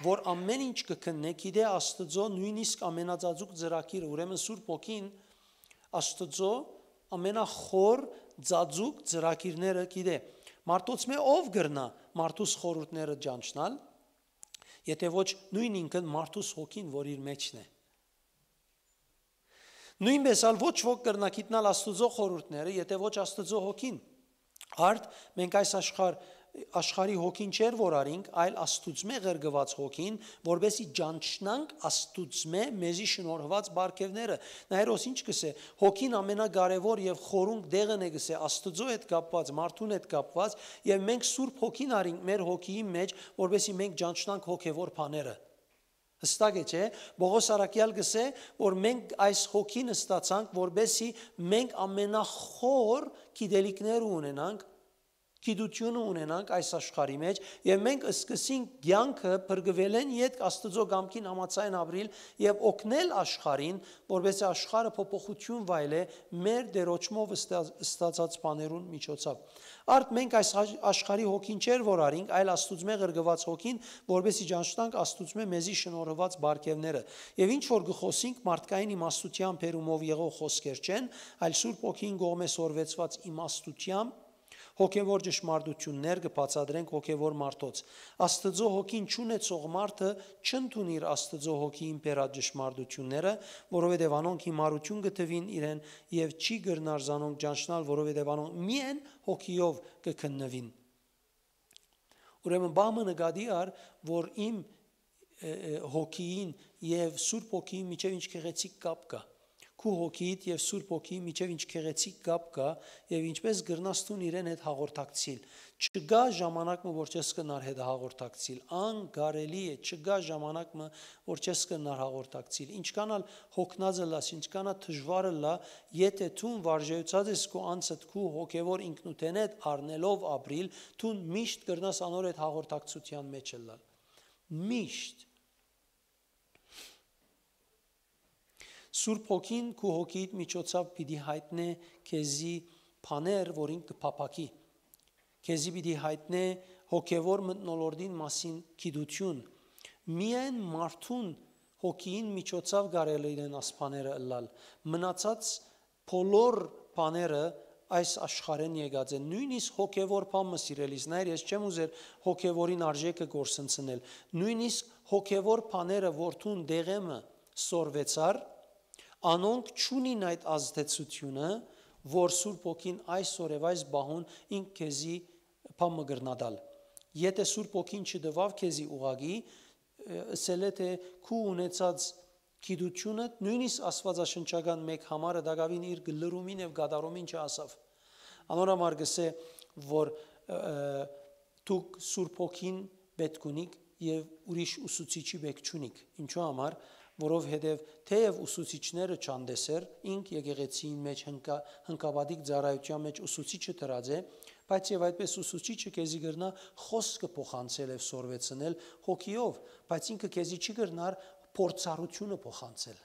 որ ամեն ինչ կը քննէ, գիտէ Աստուծոյ նոյնիսկ ամենածածուկ ծրագիրը, ուրեմն Սուրբ Հոգին Աստուծոյ ամենախոր ծածուկ ծրագիրները գիտէ։ Մարդոցմէ ով կրնայ մարդուս խորհուրդները ճանչնալ, եթե ոչ նոյն ինքն մարդուս հոգին, որ իր մէջն է։ Նոյնպէս ալ ոչ ոք կրնայ գիտնալ Աստուծոյ խորհուրդները, եթե ոչ Աստուծոյ հոգին։ Արդ, մենք այս աշխարհ, աշխարհի հոգին չէր որ արինք, այլ Աստուծմէ ղրկուած հոգին, որպեսզի ճանչնանք Աստուծմէ մեզի շնորհուած պարգեւները։ Նայ, Հերոս ինչ կսէ, հոգին ամենակարեւոր եւ խորունկ դեղն է, կսէ, Աստուծոյ հետ կապուած, մարդուն հետ կապուած, եւ մենք Սուրբ Հոգին արինք մեր հոգիին մէջ, որպեսզի մենք ճանչնանք հոգեվոր բաները։ Հստակ է, չէ՞։ Պողոս առաքեալ կսէ, որ մենք այս հոգին ստացանք, որպեսզի մենք ամենախոր գիտելիքները ունենանք, գիտությունը ունենանք այս աշխարհի մէջ, եւ մենք սկսենք կեանքը փրկուելէն ետք Աստուծոյ կամքին համաձայն ապրիլ եւ օգնել աշխարհին, որպեսզի աշխարհը փոփոխություն վայելէ մեր Տիրոջմով ստա-, ստացած բաներուն միջոցով։ Արդ մենք այս ա-, աշխարհի հոգին չէր որ արինք, այլ Աստուծմէ ղրկուած հոգին, որպեսզի ճանչնանք Աստուծմէ մեզի շնորհուած պարգեւները։ Եւ ինչ որ կը խոսենք մարդկային իմաստութեան բերումով եղող խոսքեր չեն, այլ Սուրբ Հոգին կողմէ սորվեցուած իմաստութեան, հոգեվոր ճշմարտութիւններ կը բացատրենք հոգեվոր մարդոց։ Աստուծոյ հոգին չունեցող մարդը չընդունիր Աստուծոյ հոգիին բերած ճշմարտութիւնները, որովհետեւ անոնք հիմարութիւն կը թուին իրեն եւ չի կրնար զանոնք ճանչնալ, որովհետեւ անոնք միայն հոգիով կը քննուին։ Ուրեմն բամը նկատի առ, որ իմ, ը, ը, հոգիին եւ Սուրբ Հոգիին միջեւ ինչ գեղեցիկ կապ կայ։ Քու հոգիիդ եւ Սուրբ Հոգիի միջեւ ինչ գեղեցիկ կապ կայ եւ ինչպես կրնաս դուն իրեն հետ հաղորդակցիլ։ Չկայ ժամանակ մը, որ չես կրնար հետ հաղորդակցիլ։ Անկարելի է, չկայ ժամանակ մը, որ չես կրնար հաղորդակցիլ։ Ինչքան ալ հոգնած ըլլաս, ինչքան ալ դժուար ըլլայ, եթե դուն վարժեացած ես քու անձդ, քու հոգեվոր ինքնութենէդ առնելով ապրիլ, դուն միշտ կրնաս անոր հետ հաղորդակցութեան մէջ ըլլալ։ Միշտ։ Սուրբ Հոգին քու հոգիիդ միջոցով պիտի յայտնէ քեզի բաներ, որ ինք կը փափաքի։ Քեզի պիտի յայտնէ հոգեվոր մթնոլորտին մասին գիտութիւն։ Միայն մարդուն հոգիին միջոցով կարելի են աս բաները ըլլալ։ Մնացած բոլոր բաները այս աշխարհէն եկած են։ Նոյնիսկ հոգեւոր բան մը, սիրելիս, նայր, ես չեմ ուզեր հոգեւորին արժեքը կորսնցնել։ Նոյնիսկ հոգեւոր բաները, որ դուն դեղէ մը սորվեցար, անոնք չունին այդ ազդեցութիւնը, որ Սուրբ Հոգին այսօր եւ այս պահուն ինք քեզի բան մը կրնա տալ։ Եթէ Սուրբ Հոգին չտուաւ քեզի ուղղակի, ը, ըսել է, թէ քու ունեցած գիտութիւնը, նոյնիսկ աստուածաշնչական մէկ համարը տակաւին իր գլրումին եւ կատարումին չհասաւ։ Անոր համար կ'ըսէ, որ, ը, ը, դուք Սուրբ Հոգին պէտք ունիք եւ ուրիշ ուսուցիչի պէտք չունիք։ Ինչու համար, որովհետեւ թէեւ ուսուցիչները չան տեսեր, ինք եկեղեցիին մէջ հնկա-, հնկապատիկ ծառայութեան մէջ ուսուցիչը դրած է, բայց եւ այդպես ուսուցիչը քեզի կրնայ խօսքը փոխանցել եւ սորվեցնել հոգիով, բայց ինքը քեզի չի կրնար փորձառութիւնը փոխանցել։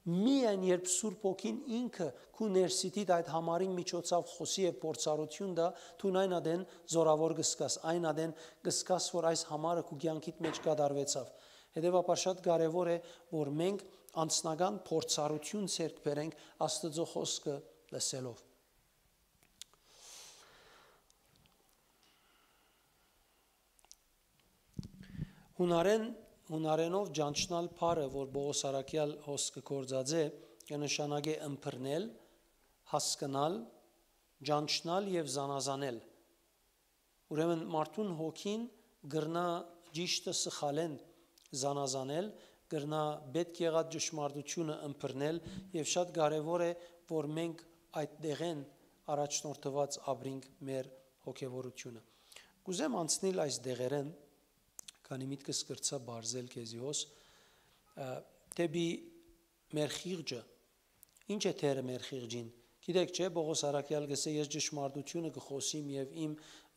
Միայն երբ Սուրբ Հոգին ինքը քու ներսիդիդ այդ համարին միջոցաւ խօսի եւ փորձառութիւն տայ, դուն այն ատեն զօրաւոր կ'զգաս, այն ատեն կ'զգաս, որ այս համարը քու կեանքիդ մէջ կատարուեցաւ։ Հետեւաբար շատ կարեւոր է, որ մենք անձնական փորձառութիւն ձեռք բերենք Աստուծոյ խօսքը լսելով։ Յունարէն, յունարէնով ճանչնալ բառը, որ Պողոս առաքեալ հոս կը գործածէ, կը նշանակէ ըմբռնել, հասկնալ, ճանչնալ եւ զանազանել։ Ուրեմն մարդուն հոգին կրնայ ճիշդը սխալէն զանազանել, կրնայ պէտք եղած ճշմարտութիւնը ըմբռնել եւ շատ կարեւոր է, որ մենք այդ դեղէն առաջնորդուած ապրինք մեր հոգեվորութիւնը։ Կ'ուզեմ անցնիլ այս դեղերէն, քանի միտքս կրցայ բարձել քեզի հոս, ը, դէպի մեր խիղճը։ Ի՞նչ է դերը մեր խիղճին։ Գիտեք չէ, Պողոս առաքեալ կ'ըսէ, «Ես ճշմարտութիւնը կը խօսիմ եւ իմ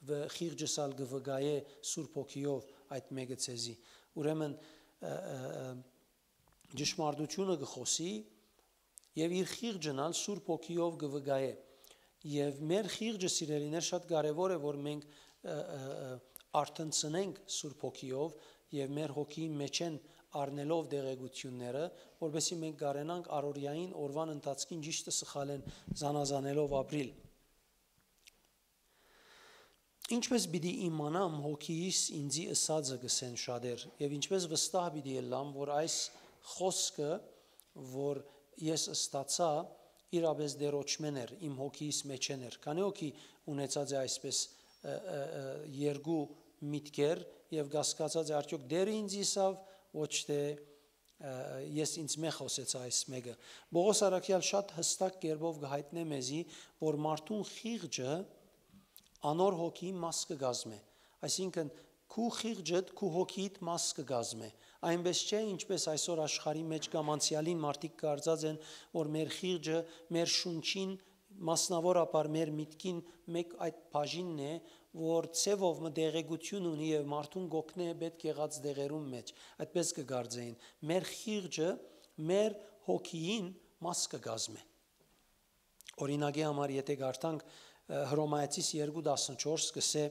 վ-, խիղճս ալ կը վկայէ Սուրբ Հոգիով այդ մէկը ձեզի»։ Ուրեմն, ը, ը, ը, ճշմարտութիւնը կը խօսի եւ իր խիղճն ալ Սուրբ Հոգիով կը վկայէ։ Եւ մեր խիղճը, սիրելիներ, շատ կարեւոր է, որ մենք, ը, ը, ը, արթնցնենք Սուրբ Հոգիով եւ մեր հոգիին մէջէն առնելով տեղեկութիւնները, որպեսզի մենք կարենանք առօրեային օրուան ընթացքին ճիշդը սխալէն զանազանելով ապրիլ։ Ինչպէս պիտի իմանամ հոգիիս ինծի ըսածը, կ'ըսեն շատեր, եւ ինչպէս վստահ պիտի ըլլամ, որ այս խօսքը, որ ես ստացայ, իրապէս Տէրոջմէն էր, իմ հոգիիս մէջէն էր։ Քանի՞ հոգի ունեցած է այսպէս, ը, ը, ը, երկու միտքեր եւ կասկածած է, արդյոք Տէրը ինձ ըսաւ, ոչ թէ, ը, ես ինձ մէ խօսեցայ այս մէկը։ Պողոս առաքեալ շատ յստակ կերպով կը յայտնէ մեզի, որ մարդուն խիղճը անոր հոգիի մաս կը կազմէ։ Այսինքն, քու խիղճդ քու հոգիիդ մաս կը կազմէ։ Այնպես չէ, ինչպես այսօր աշխարհի մէջ կամ անցեալին մարդիկ կարծած են, որ մեր խիղճը մեր շունչին, մասնաւորաբար մեր միտքին մէկ այդ բաժինն է, որ ձևով մը տեղեկութիւն ունի եւ մարդուն կ'օգնէ պէտք եղած դեղերուն մէջ։ Այդպես կը կարծէին։ Մեր խիղճը մեր հոգիին մաս կը կազմէ։ Օրինակի համար, եթե կարդանք, ը, Հռոմայեցիս երկու տասնչորս կ'ըսէ,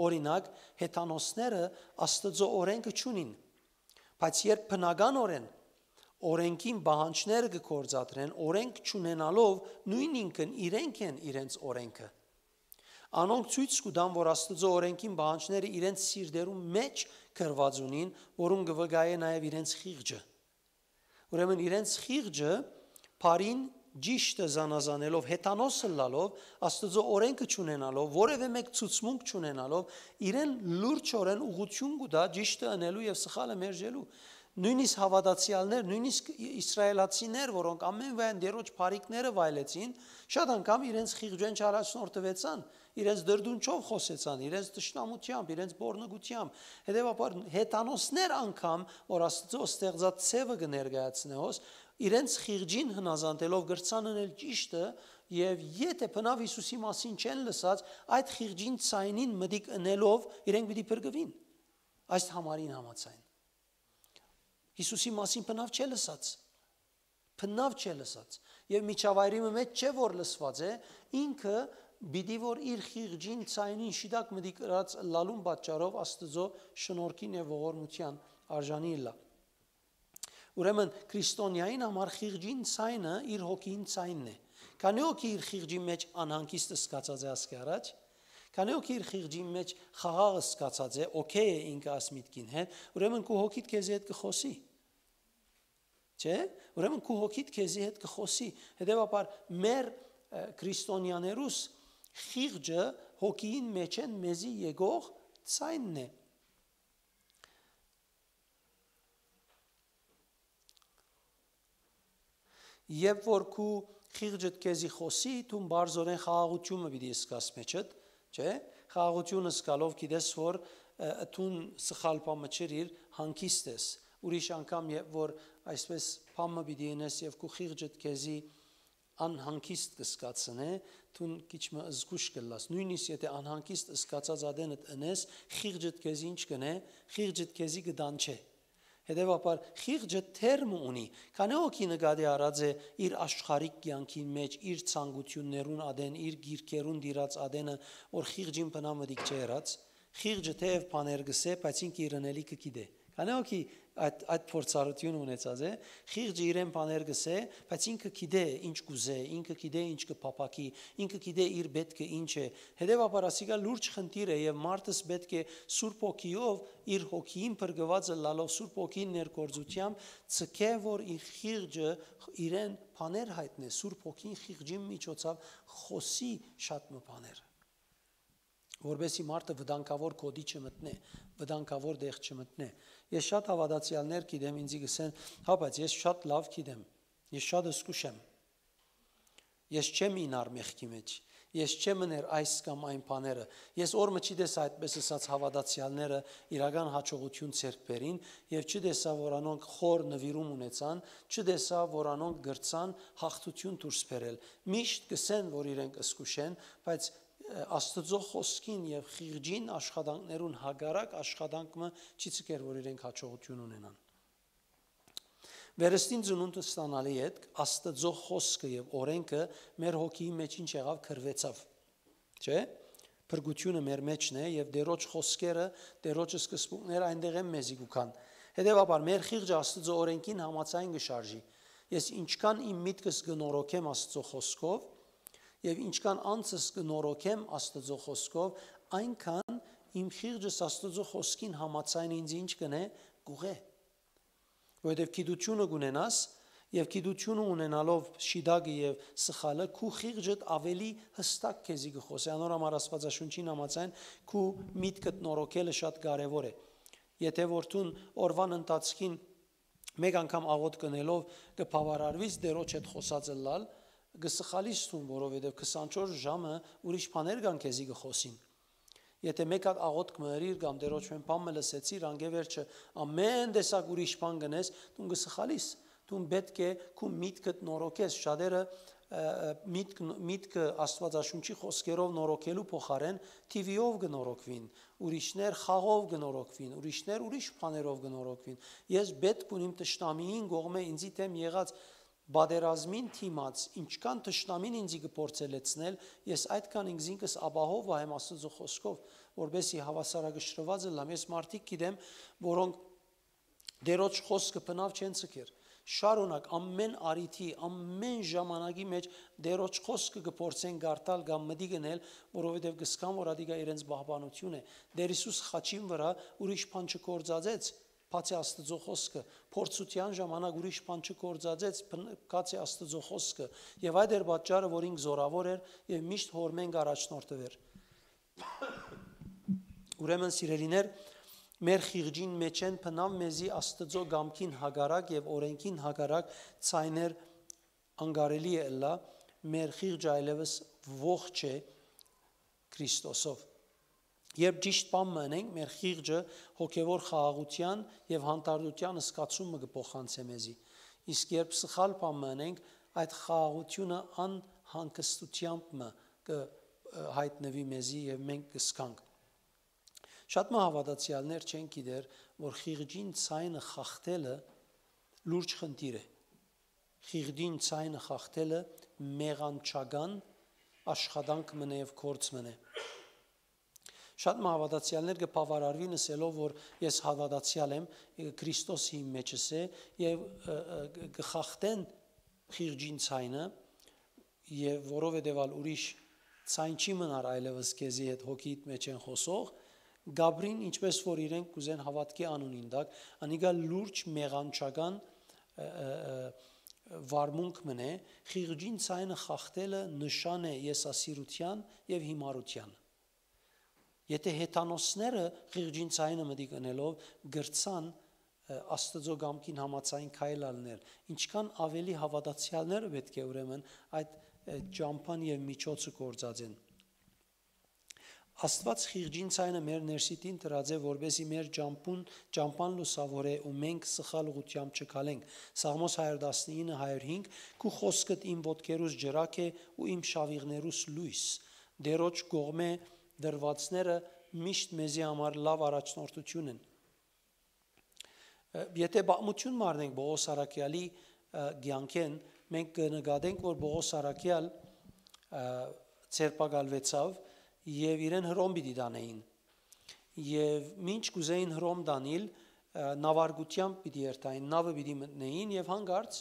օրինակ, հեթանոսները Աստուծոյ օրէնքը չունին, բայց երբ բնականօրէն օրէնքին պահանջները կը գործադրեն, օրէնք չունենալով, նոյնինքն իրենք են իրենց օրէնքը։ Անոնք ցոյց կու տան, որ Աստուծոյ օրէնքին պահանջները իրենց սիրտերուն մէջ գրուած ունին, որուն կը վկայէ նաեւ իրենց խիղճը։ Ուրեմն իրենց խիղճը, բառին ճիշդը զանազանելով, հեթանոս ըլլալով, Աստուծոյ օրէնքը չունենալով, որեւէ մէկ ցուցմունք չունենալով, իրեն լուրջօրէն ուղղութիւն կու տայ ճիշդը ընելու եւ սխալը մերժելու։ Նոյնիսկ հաւատացեալներ, նոյնիսկ ի-, իսրայելացիներ, որոնք ամենուայն Տէրոջ բարիքները վայելեցին, շատ անգամ իրենց խիղճէն չառաջնորդուեցան, իրենց դրդունչով խօսեցան, իրենց թշնամութեամբ, իրենց բոռնկութեամբ։ Հետեւաբար, հեթանոսներ անգամ, որ Աստուծոյ ստեղծած ձևը կը ներկայացնէ հոս, իրենց խիղճին հնազանդելով կրցան ընել ճիշդը, եւ եթէ բնաւ Յիսուսի մասին չեն լսած, այդ խիղճին ձայնին մտիկ ընելով իրենք պիտի փրկուին։ Այս համարին համաձայն։ Յիսուսի մասին բնաւ չէ լսած։ Բնաւ չէ լսած։ Եւ միջավայրի մը մէջ չէ որ լսված է, ինքը պիտի որ իր խիղճին, ձայնին շիտակ մտիկ ըրած ըլլալուն պատճառով Աստուծոյ շնորհքին եւ ողորմութեան արժանի ըլլայ։ Ուրեմն, քրիստոնեային համար խիղճին ցայնը իր հոգին ցայնն է։ Քանի՞ հոգի իր խիղճի մեջ անհանգիստ զգացած է ասկի առաջ, քանի՞ հոգի իր խիղճի մեջ խաղաղ զգացած է, օքեյ է ինքը աս միտքին հետ, ուրեմն քու հոգիդ քեզի հետ կը խօսի։ Չէ՞։ Ուրեմն քու հոգիդ քեզի հետ կը խօսի։ Հետեւաբար մեր, ը, քրիստոնեաներուս խիղճը հոգիին մեջ են մեզի եկող ցայնն է։ Երբ որ քու խիղճդ քեզի խօսի, դուն բարձորեն խաղաղութիւնը պիտի զգաս մեջդ, չէ՞։ Խաղաղութիւնը զգալով գիտես, որ, ը, դուն սխալ բան մը չըրիր, հանգիստ ես։ Ուրիշ անգամ, երբ որ այսպես բան մը պիտի ընես եւ քու խիղճդ քեզի անհանգիստ կը զգացնէ, դուն քիչ մը զգուշ կ'ըլլաս։ Նոյնիսկ եթէ անհանգիստ զգացած ատենդ ընես, խիղճդ քեզի ինչ կ'ընէ, խիղճդ քեզի կը դանչէ։ Հետեւաբար, խիղճը թերմ ունի, քանի՞ հոգի նկատի առած է իր աշխարհիկ կեանքին մեջ, իր ցանկութիւններուն ատեն, իր գիրքերուն տիրած ատենը, որ խիղճին բնամտիկ չէ եղած։ Խիղճը թեև բաներ կ'ըսէ, բայց ինքը իր ընելիքը գիտէ։ Քանի՞ հոգի այդ, այդ փորձառութիւնը ունեցած է, խիղճը իրեն բաներ կ'ըսէ, բայց ինքը գիտէ ինչ կ'ուզէ, ինքը գիտէ ինչ կը փափաքի, ինքը գիտէ իր պէտքը ինչ է։ Հետեւաբար, ասիկա լուրջ խնդիր է եւ մարդս պէտք է Սուրբ Հոգիով, իր հոգիին փրկուած ըլլալով, Սուրբ Հոգին ներկործութեամբ, ձգէ, որ իր խիղճը իրեն բաներ յայտնէ, Սուրբ Հոգին խիղճին միջոցով խօսի շատ մը բաներ, որպեսզի մարդը վտանգաւոր գօտի չմտնէ, վտանգաւոր տեղ չմտնէ։ Ես շատ հաւատացեալներ գիտեմ, ինձի կ'ըսեն, հա, բայց ես շատ լաւ գիտեմ, ես շատ զգուշ եմ, ես չեմ ինար մեղքի մեջ, ես չեմ ըներ այս կամ այն բաները։ Ես օր մը չի տեսայ այդպես ըսած հաւատացեալները իրական յաջողութիւն ձեռք բերին եւ չի տեսայ, որ անոնք խոր նուիրում ունեցան, չի տեսայ, որ անոնք կրցան յաղթութիւն դուրս բերել։ Միշտ կ'ըսեն, որ իրենք զգուշ են, բայց, ը, Աստուծոյ խօսքին եւ խիղճին աշխատանքներուն հակառակ աշխատանք մը չի ձգեր, որ իրենք յաջողութիւն ունենան։ Վերստին ծնունդ ստանալի ետք Աստուծոյ խօսքը եւ օրէնքը մեր հոգիի մեջ ինչ եղաւ, կռուեցաւ, չէ՞։ Փրկութիւնը մեր մեջն է եւ Տէրոջ խօսքերը, Տէրոջ սկզբունքները այնտեղ են մեզի կու գան։ Հետեւաբար, մեր խիղճը Աստուծոյ օրէնքին համաձայն կը շարժի։ Ես ինչքան իմ միտքս կը նորոգեմ Աստուծոյ խօսքով եւ ինչքան անձս կը նորոգեմ Աստուծոյ խօսքով, այնքան իմ խիղճս Աստուծոյ խօսքին համաձայն ինձ ինչ կ'ընէ, կ'ուղղէ։ Որովհետեւ գիտութիւնը կ'ունենաս, եւ գիտութիւնը ունենալով շիտակը եւ սխալը, քու խիղճդ աւելի յստակ քեզի կը խօսի։ Անոր համար Աստուածաշունչին համաձայն քու միտքդ նորոգելը շատ կարեւոր է։ Եթէ որ դուն օրուան ընթացքին մէկ անգամ աղօթք ընելով կը բաւարարվիս Տէրոջ հետ խօսած ըլլալ, կը սխալիս դուն, որովհետեւ քսանչորս ժամը ուրիշ բաներ կան քեզի կը խօսին։ Եթէ մէկ հատ աղօթք մը ըրիր կամ Տէրոջմէն բան մը լսեցիր, անկէ վերջը ամէն տեսակ ուրիշ բան կ'ընես, դուն կը սխալիս։ Դուն պէտք է քու միտքդ նորոգես, շատերը, ը, ը, միտք, միտքը Աստուածաշունչի խօսքերով նորոգելու փոխարէն T V-ով կը նորոգուին, ուրիշներ խաղով կը նորոգուին, ուրիշներ ուրիշ բաներով կը նորոգուին։ Ես պէտք ունիմ թշնամիին կողմէ ինձի դէմ եղած պատերազմին դիմաց, ինչքան թշնամին ինձի կը փորձէ լեցնել, ես այդքան ինքզինքս ապահով վայեմ Աստուծոյ խօսքով, որպեսզի հաւասարակշռուած ըլլամ։ Ես մարդիկ գիտեմ, որոնք Տէրոջ խօսքը բնաւ չեն ձգեր։ Շարունակ ամէն առիթի, ամէն ժամանակի մեջ Տէրոջ խօսքը կը փորձեն կարդալ կամ մտիկ ընել, որովհետեւ կ'ըսկան, որ ատիկա իրենց պահպանութիւն է։ Տէր Յիսուս խաչին վրայ ուրիշ բան չգործածեց, բացի Աստուծոյ խօսքը, փորձութեան ժամանակ ուրիշ բան չգործածեց, բն-, բացի Աստուծոյ խօսքը, եւ այդ էր պատճառը, որ ինք զօրաւոր էր եւ միշտ Հօրմէն կ'առաջնորդուէր։ Ուրեմն, սիրելիներ, մեր խիղճին մէջէն բնաւ մեզի Աստուծոյ կամքին հակառակ եւ օրէնքին հակառակ ցայներ անկարելի է ըլլայ, մեր խիղճը այլեւս ողջ է Քրիստոսով։ Երբ ճիշտ բան մը ընենք, մեր խիղճը հոգեւոր խաղաղութեան եւ հանդարտութեան զգացումը կը փոխանցէ մեզի։ Իսկ երբ սխալ բան մը ընենք, այդ խաղաղութիւնը անհանգստութեամբ մը կը, ը, յայտնուի մեզի եւ մենք կ'զգանք։ Շատ մը հաւատացեալներ չեն գիտեր, որ խիղճին ցայնը խախտելը լուրջ խնդիր է։ Խիղճին ցայնը խախտելը մեղանչական աշխատանք մըն է եւ գործ մըն է։ Շատ մը հաւատացեալներ կը բաւարարուին ըսելով, որ ես հաւատացեալ եմ, Քրիստոս իմ մեջս է, եւ, ը, ը, կը խախտեն խիղճին ցայնը, եւ որովհետեւ ալ ուրիշ ցայն չի մնար այլեւս քեզի հետ հոգիդ մեջ են խօսող, Գաբրին, ինչպես որ իրենք կ'ուզեն հաւատքի անունին տակ, անիկա լուրջ մեղանչական, ը, ը, ը, վարմունք մնե, խիղճին ցայնը խախտելը նշան է եսասիրութեան եւ հիմարութեան։ Եթե հեթանոսները խիղճին ցայնը մտիկ ընելով գրցան, ը, Աստուծոյ կամքին համաձայն քայլ ալներ, ինչքան ավելի հաւատացեալները պէտք է ուրեմն այդ, ը, ճամբան եւ միջոցը գործածեն։ Աստուած խիղճին ցայնը մեր ներսիտին դրած է, որպեսզի մեր ճամբուն, ճամբան լուսաւորէ ու մենք սխալ ուղղութեամբ չքալենք։ Սաղմոս հարիւր տասնինը, հարիւր հինգ. «Քու խօսքդ իմ ոտքերուս ջրակ է ու իմ շաւիղներուս լոյս»։ Տէրոջ կողմէ դրուածները միշտ մեզի համար լաւ առաջնորդություն են։ Ը, եթե պատմութիւն մառնենք Պողոս առաքեալի, ը, կեանքէն, մենք կը նկատենք, որ Պողոս առաքեալ, ը, ձերբակալուեցաւ եւ իրեն Հռոմ պիտի տանէին։ Եւ մինչ կ'ուզէին Հռոմ տանիլ, ը, նաւարկութեամբ պիտի երթային, նաւը պիտի մտնէին եւ հանկարծ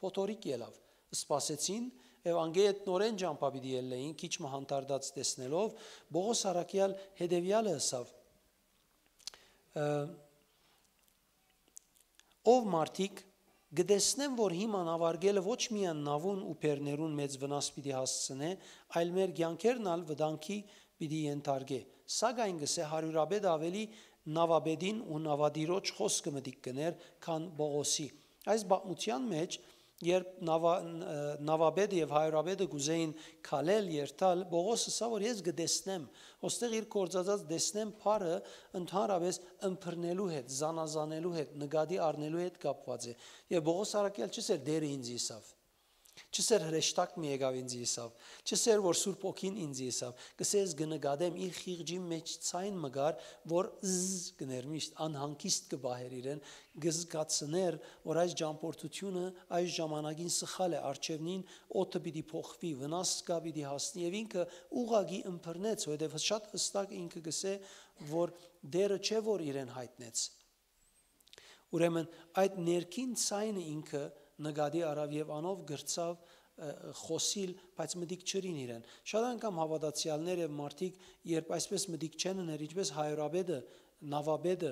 փոթորիկ ելաւ։ Սպասեցին եւ անգէ հետ նորէն ճամբայ պիտի ելլէին, քիչ մը հանդարտած տեսնելով, Պողոս առաքեալ հետեւեալը ըսաւ. ը, «Ով մարդիկ, կը տեսնեմ, որ հիմա նավարկելը ոչ միայն նաւուն ու բեռներուն մեծ վնաս պիտի հասցնէ, այլ մեր կեանքերն ալ վտանգի պիտի ենթարկէ։ Սակայն կ'ըսէ, հարիւրապետը աւելի նաւապետին ու նաւատիրոջ խօսքը մտիկ կ'ընէր, քան Պողոսի»։ Այս պատմութեան մէջ, երբ նաւա-, ն-, ը, նաւապետը եւ հարիւրապետը կ'ուզէին քալել, երթալ, Պողոս ըսաւ, որ ես կը տեսնեմ, ոստեղ իր գործածած «տեսնեմ» բառը ընդհանրապէս ըմբռնելու հետ, զանազանելու հետ, նկատի առնելու հետ կապուած է։ Եւ Պողոս առաքեալ չ'ըսէր, «Տէրը ինձ ըսաւ»։ Չ'ըսէր, «Հրեշտակ մը եկաւ ինձ ըսաւ»։ Չ'ըսէր, որ Սուրբ Հոգին ինձ ըսաւ։ Կ'ըսէ, ես կը նկատեմ, իր խիղճին մէջ ցայն մը կար, որ զզ կ'ընէր միշտ, անհանգիստ կը պահէր իրեն, կը զգացնէր, որ այս ճամբորդութիւնը այս ժամանակին սխալ է, առջեւնին օդը պիտի փոխուի, վնաս կայ պիտի հասնի, եւ ինքը ուղղակի ըմբռնեց, որովհետեւ շատ հստակ ինքը կ'ըսէ, որ Տէրը չէ, որ իրեն յայտնեց։ Ուրեմն այդ ներքին ցայնը ինքը նկատի առաւ եւ անով կրցաւ, ը, խօսիլ, բայց մտիկ չըրին իրեն։ Շատ անգամ հաւատացեալներ եւ մարդիկ, երբ այսպես մտիկ չեն ըներ, ինչպես հարիւրապետը, նաւապետը,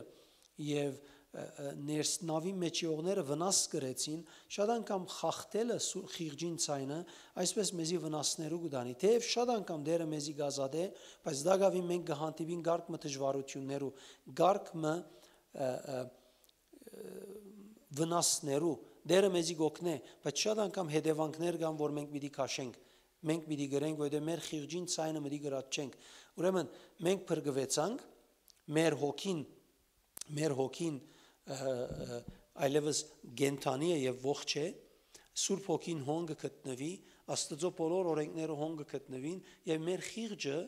եւ, ը, ը, ներս նաւի մէջ եղողները վնաս կրեցին, շատ անգամ խախտելը սու-, խիղճին ցայնը այսպես մեզի վնասներու կու տանի։ Թէեւ շատ անգամ Տէրը մեզի կ'ազատէ, բայց տակաւին մենք կը հանդիպին կարգ մը դժվարութիւններու, կարգ մը, ը, ը, ը, վնասներու։ Տէրը մեզի կ'օգնէ, բայց շատ անգամ հետեւանքներ կան, որ մենք պիտի քաշենք, մենք պիտի կրենք, որովհետեւ մեր խիղճին ցայնը մտիկ ըրած չենք։ Ուրեմն մենք փրկուեցանք, մեր հոգին, մեր հոգին, ը, ը, այլեւս կենդանի է եւ ողջ է, Սուրբ Հոգին հոն կը գտնուի, Աստուծոյ բոլոր օրէնքները հոն կը գտնուին եւ մեր խիղճը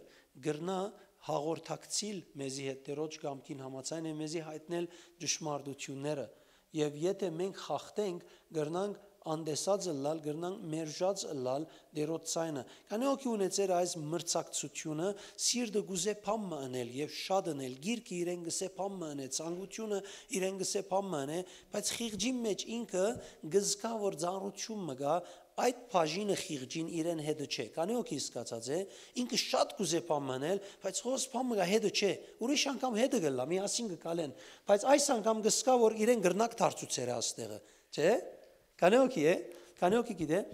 կրնայ հաղորդակցիլ մեզի հետ Տէրոջ կամքին համաձայն եւ մեզի յայտնել ճշմարտութիւնները։ Եւ եթէ մենք խախտենք, կրնանք անտեսած ըլլալ, կրնանք մերժած ըլլալ Տէրոջ ցայնը։ Քանի՞ հոգի ունեցեր այս մրցակցութիւնը, սիրտը կ'ուզէ բան մը ընել եւ շատ ընել, գիրքը իրեն կ'ըսէ բան մը ընէ, ցանկութիւնը իրեն կ'ըսէ բան մը ընէ, բայց խիղճին մէջ ինքը կը զգայ, որ ծանրութիւն մը կայ, այդ բաժինը խիղճին իրեն հետը չէ։ Քանի՞ հոգի զգացած է, ինքը շատ կ'ուզէ բան մը ընել, բայց հոս բան մը կայ, հետը չէ։ Ուրիշ անգամ հետը կ'ըլլայ, միասին կը քալեն, բայց այս անգամ կը զգայ, որ իրեն կրնակ դարձուցեր է աստեղը, չէ՞։ Քանի՞ հոգի է, քանի՞ հոգի գիտէ,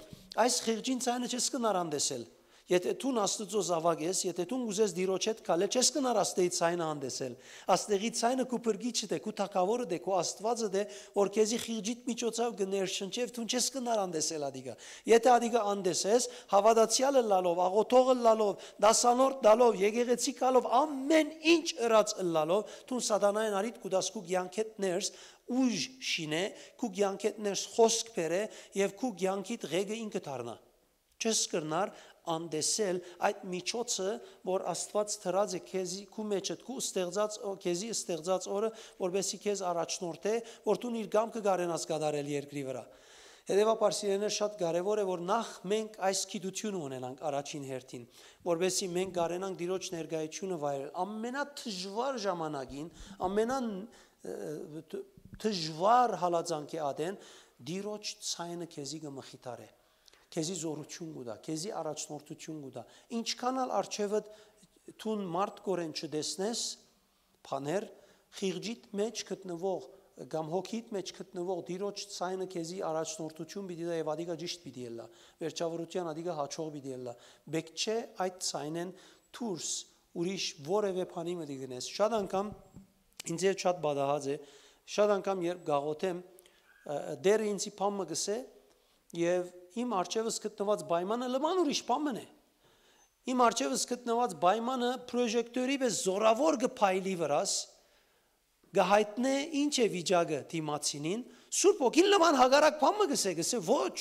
այս խիղճին ցայնը չես կրնար անտեսել։ Եթէ դուն Աստուծոյ զաւակ ես, եթէ դուն կ'ուզես Տիրոջ հետ քալել, չես կրնար աստեղի ցայնը անտեսել։ Աստեղի ցայնը քու փրկիչդ է, քու թագաւորդ է, քու Աստուածդ է, որ քեզի խիղճիդ միջոցաւ կը ներշնչէ, դուն չես կրնար անտեսել ադիկը։ Եթէ ադիկը անտեսես, հաւատացեալ ըլլալով, աղօթող ըլլալով, դասանորդ ըլլալով, եկեղեցի գալով, ամէն ինչ ըրած ըլլալով, դուն սատանային արիդ կու տաս քու կեանքէդ ներս, ուժ շինէ, քու կեանքէդ ներս խօսք բերէ եւ քու կեանքիդ ղեկը ինքը դառնայ։ Չես կրնար անտեսել այդ միջոցը, որ Աստուած դրած է քեզի, քու մեջդ, քու ստեղծած օ-, քեզի ստեղծած օրը, որպեսզի քեզ առաջնորդէ, որ դուն իր կամքը կարենաս կատարել երկրի վրայ։ Հետեւաբար, սիրելիներ, շատ կարեւոր է, որ նախ մենք այս գիտությունը ունենանք առաջին հերթին, որպեսզի մենք կարենանք Տիրոջ ներկայությունը վայելել ամենադժուար ժամանակին, ամենան, ը, դ-, դժուար հալածանքի ատեն, Տիրոջ ցայնը քեզի կը մխիթարէ, քեզի զօրութիւն կու տայ, քեզի առաջնորդութիւն կու տայ։ Ինչքան ալ առջեւդ դուն մարդկորեն չտեսնես, բաներ, խիղճիդ մէջ գտնուող կամ հոգիդ մէջ գտնուող Տիրոջ ցայնը քեզի առաջնորդութիւն պիտի տայ եւ ադիկա ճիշդ պիտի ըլլայ, վերջաւորութեան ադիկա յաջող պիտի ըլլայ։ Պէտք չէ այդ ցայնէն դուրս ուրիշ որեւէ բանի մտի գնես։ Շատ անգամ ինձ հետ շատ պատահած է, շատ անգամ երբ գաղութեմ, ը, Տէրը ինձի բան մը կ'ըսէ եւ իմ առջեւս գտնուած պայմանը լման ուրիշ բան մըն է։ Իմ առջեւս գտնուած պայմանը պրոժեկտորի պէս զօրաւոր կը փայլի վրաս, կը յայտնէ ինչ է վիճակը դիմացինին, Սուրբ Հոգին լման հակառակ բան մը կ'ըսէ, կ'ըսէ ոչ։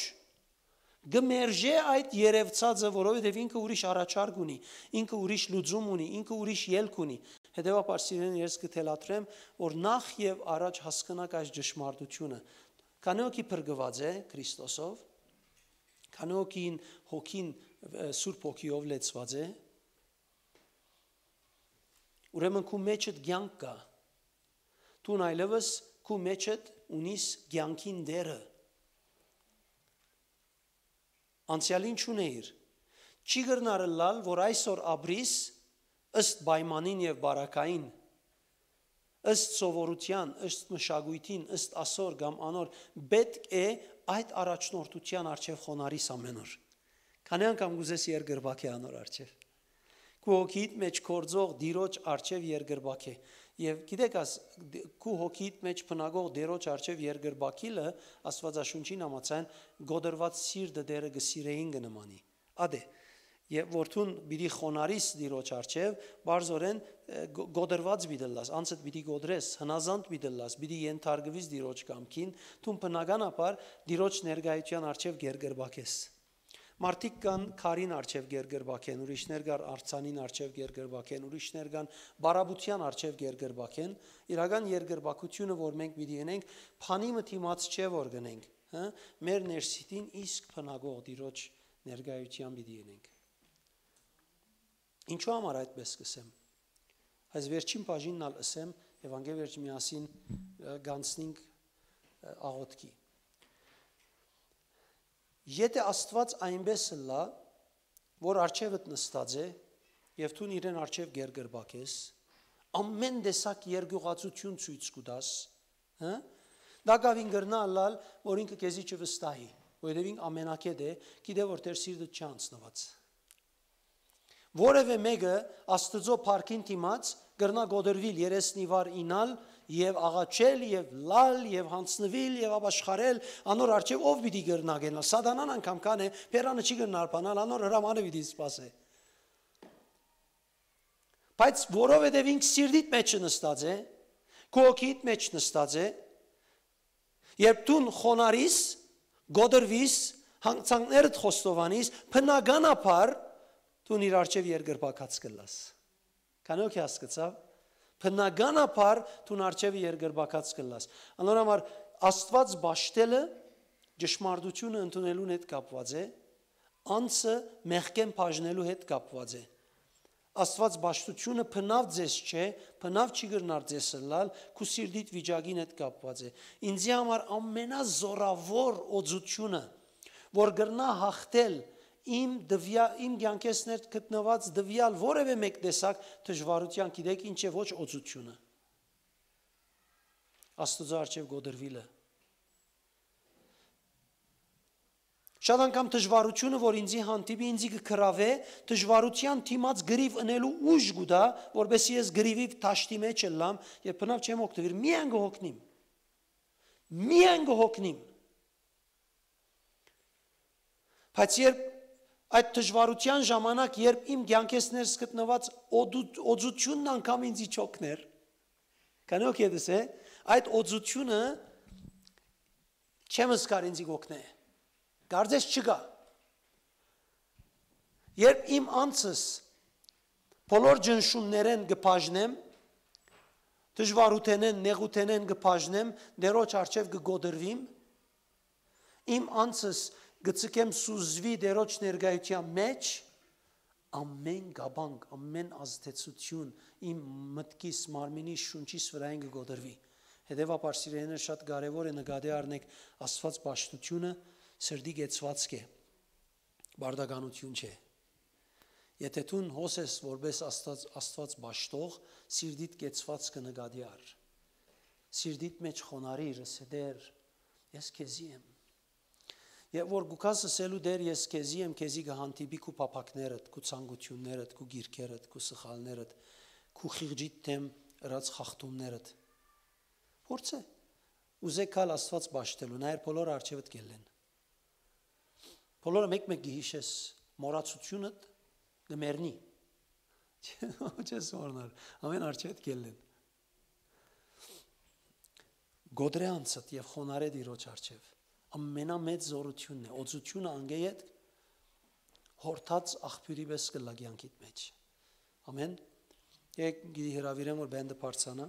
Կը մերժէ այդ երեւցածը, որովհետեւ ինքը ուրիշ առաջարկ ունի, ինքը ուրիշ լուծում ունի, ինքը ուրիշ ելք ունի։ Հետեւաբար, սիրելին, ես կը թելադրեմ, որ նախ եւ առաջ հասկնաք այս ճշմարտութիւնը։ Քանի հոգի փրկուած է Քրիստոսով, քանի հոգին, հոգին, ը, Սուրբ Հոգիով լեցուած է, ուրեմն քու մեջդ կեանք կայ։ Դուն այլեւս քու մեջդ ունիս կեանքին Տէրը։ Անցեալին չունէիր։ Չի կրնար ըլլալ, որ այսօր ապրիս ըստ պայմանին եւ պարագային, ըստ սովորութեան, ըստ մշակոյթին, ըստ ասոր կամ անոր, պէտք է այդ առաջնորդութեան առջեւ խոնարհիս ամէն օր։ Քանի՞ անգամ կ'ուզես երկրպագե անոր առջեւ։ Քու հոգիիդ մէջ գործող Տիրոջ առջեւ երկրպագե։ Եւ գիտեք, աս, դ-, քու հոգիիդ մէջ բնակող Տիրոջ առջեւ երկրպագիլը Աստուածաշունչին համաձայն կոտրուած սիրտը Տէրը կը սիրէին կը նմանի։ Ադէ, եւ որ դուն պիտի խոնարհիս Տիրոջ առջեւ, բարձորեն, ը, գ-, կոտրուած պիտի ըլլաս, անցդ պիտի կոտրես, հնազանդ պիտի ըլլաս, պիտի ենթարկուիս Տիրոջ կամքին, դուն բնականաբար Տիրոջ ներկայութեան առջեւ կերկրպագես։ Մարդիկ կան քարին առջեւ կերկրպագեն, ուրիշներ կան արձանին առջեւ կերկրպագեն, ուրիշներ կան բարապետութեան առջեւ կերկրպագեն։ Իրական երկրպագութիւնը, որ մենք պիտի ընենք, բանի մը դիմաց չէ որ գնենք, հը, մեր ներսիտին իսկ բնակող Տիրոջ ներկայութեան պիտի ընենք։ Ինչու համար այդպես կ'ըսեմ։ Այս վերջին բաժինն ալ ըսեմ, եւ անկէ վերջ միասին, ը, կանցնենք, ը, աղօթքի։ Եթէ Աստուած այնպէս ըլլայ, որ առջեւդ նստած է, եւ դուն իրեն առջեւ կերկրպագ ես, ամէն տեսակ երկիւղածութիւն ցոյց կու տաս, հը? Տակաւին կրնայ ըլլալ, որ ինքը քեզի չվստահի, որովհետեւ ինք ամենակետ է, գիտէ որ Տէր սիրտը չի անցնուած։ Որեւէ մէկը Աստուծոյ փառքին դիմաց կրնայ կոտրուիլ, երեսնիվար իյնալ եւ աղաչել եւ լալ եւ յանձնուիլ եւ ապաշխարել անոր առջեւ, ով պիտի կրնայ գնալ։ Սատանան անգամ քան է, բերանը չի կրնար բանալ, անոր հրամանը պիտի սպասէ։ Բայց որովհետեւ ինք սիրտիդ մէջ նստած է, քու հոգիդ մէջ նստած է, երբ դուն խոնարհիս, կոտրուիս, հանգցանքներդ խոստովանիս, բնականաբար դուն իր առջեւ երկրպագած կ'ըլլաս։ Քանի՞ հոգի հասկացաւ։ Բնականաբար դուն առջեւ երկրպագած կ'ըլլաս։ Անոր համար Աստուած պաշտելը ճշմարտութիւնը ընդունելուն հետ կապուած է, անձը մեղքէն բաժնելու հետ կապուած է։ Աստուած պաշտութիւնը բնաւ ձեզ չէ, բնաւ չի կրնար ձեզ ըլլալ, քու սիրտիդ վիճակին հետ կապուած է։ Ինձի համար ամենազօրաւոր օծութիւնը, որ կրնայ յաղթել իմ տվյա-, իմ կեանքէս ներս գտնուած տվյալ որեւէ մէկ տեսակ դժուարութեան, գիտեք ինչ է, ոչ օծութիւնը, Աստուծոյ առջեւ կոտրուիլը։ Շատ անգամ դժուարութիւնը, որ ինձի հանդիպի, ինձի կը գրաւէ, դժուարութեան դիմաց կռիւ ընելու ուժ կու տայ, որպեսզի ես կռիւի դաշտի մէջ ըլլամ, եւ բնաւ չեմ օգտուիր, միայն կը հոգնիմ։ Միայն կը հոգնիմ։ Բայց երբ այդ դժուարութեան ժամանակ, երբ իմ կեանքէս ներս գտնուած օդու-, օծութիւնն անգամ ինձի չօգներ, քանի՞ հոգի դες է, այդ օծութիւնը չեմ զգար ինձի կ'օգնէ։ Կարծես չկայ։ Երբ իմ անձս բոլոր ճնշումներէն կը բաժնեմ, դժուարութենէն, նեղութենէն կը բաժնեմ, Տէրոջ առջեւ կը կոտրուիմ, Իմ անձս կը ձգեմ սուզուի Տէրոջ ներկայութեան մէջ, ամէն կապանք, ամէն ազդեցութիւն իմ մտքիս, մարմինիս, շունչիս վրայէն կը կոտրուի։ Հետեւաբար, սիրելիներ, շատ կարեւոր է նկատի առնեք Աստուած պաշտութիւնը սրտի կեցուածք է, պարտականութիւն չէ։ Եթէ դուն հոս ես որպէս Աստուած, Աստուած պաշտող, սիրտիդ կեցուածքը նկատի առ։ Սիրտիդ մէջ խոնարհիր, ըսե Տէր, ես քեզի եմ։ Եւ որ գուքաս ըսելու Տէր, ես քեզի եմ, քեզի կը հանդիպի քու փափակներդ, քու ցանկութիւններդ, քու գիրքերդ, քու սխալներդ, քու խիղճիդ դէմ ըրած խախտումներդ։ Փորձէ, ուզե գալ Աստուած պաշտելու, նայեր բոլոր արջևդ կելլեն։ Բոլորը մեկ-մեկ կը յիշես, մոռացութիւնդ կը մեռնի։ Չես մոռնար, ամէն արջևդ կելլեն։ Գոդրե անցդ եւ խոնարհե Տիրոջ առջեւ։ Ամենամեծ զորութիւնն է, օծութիւնը անգէ ետք հորթած աղբիւրի պէս կը լա կեանքիդ մէջ։ Ամեն։ Եկ գիտի հրավիրեմ, որ բենդը բարձանա։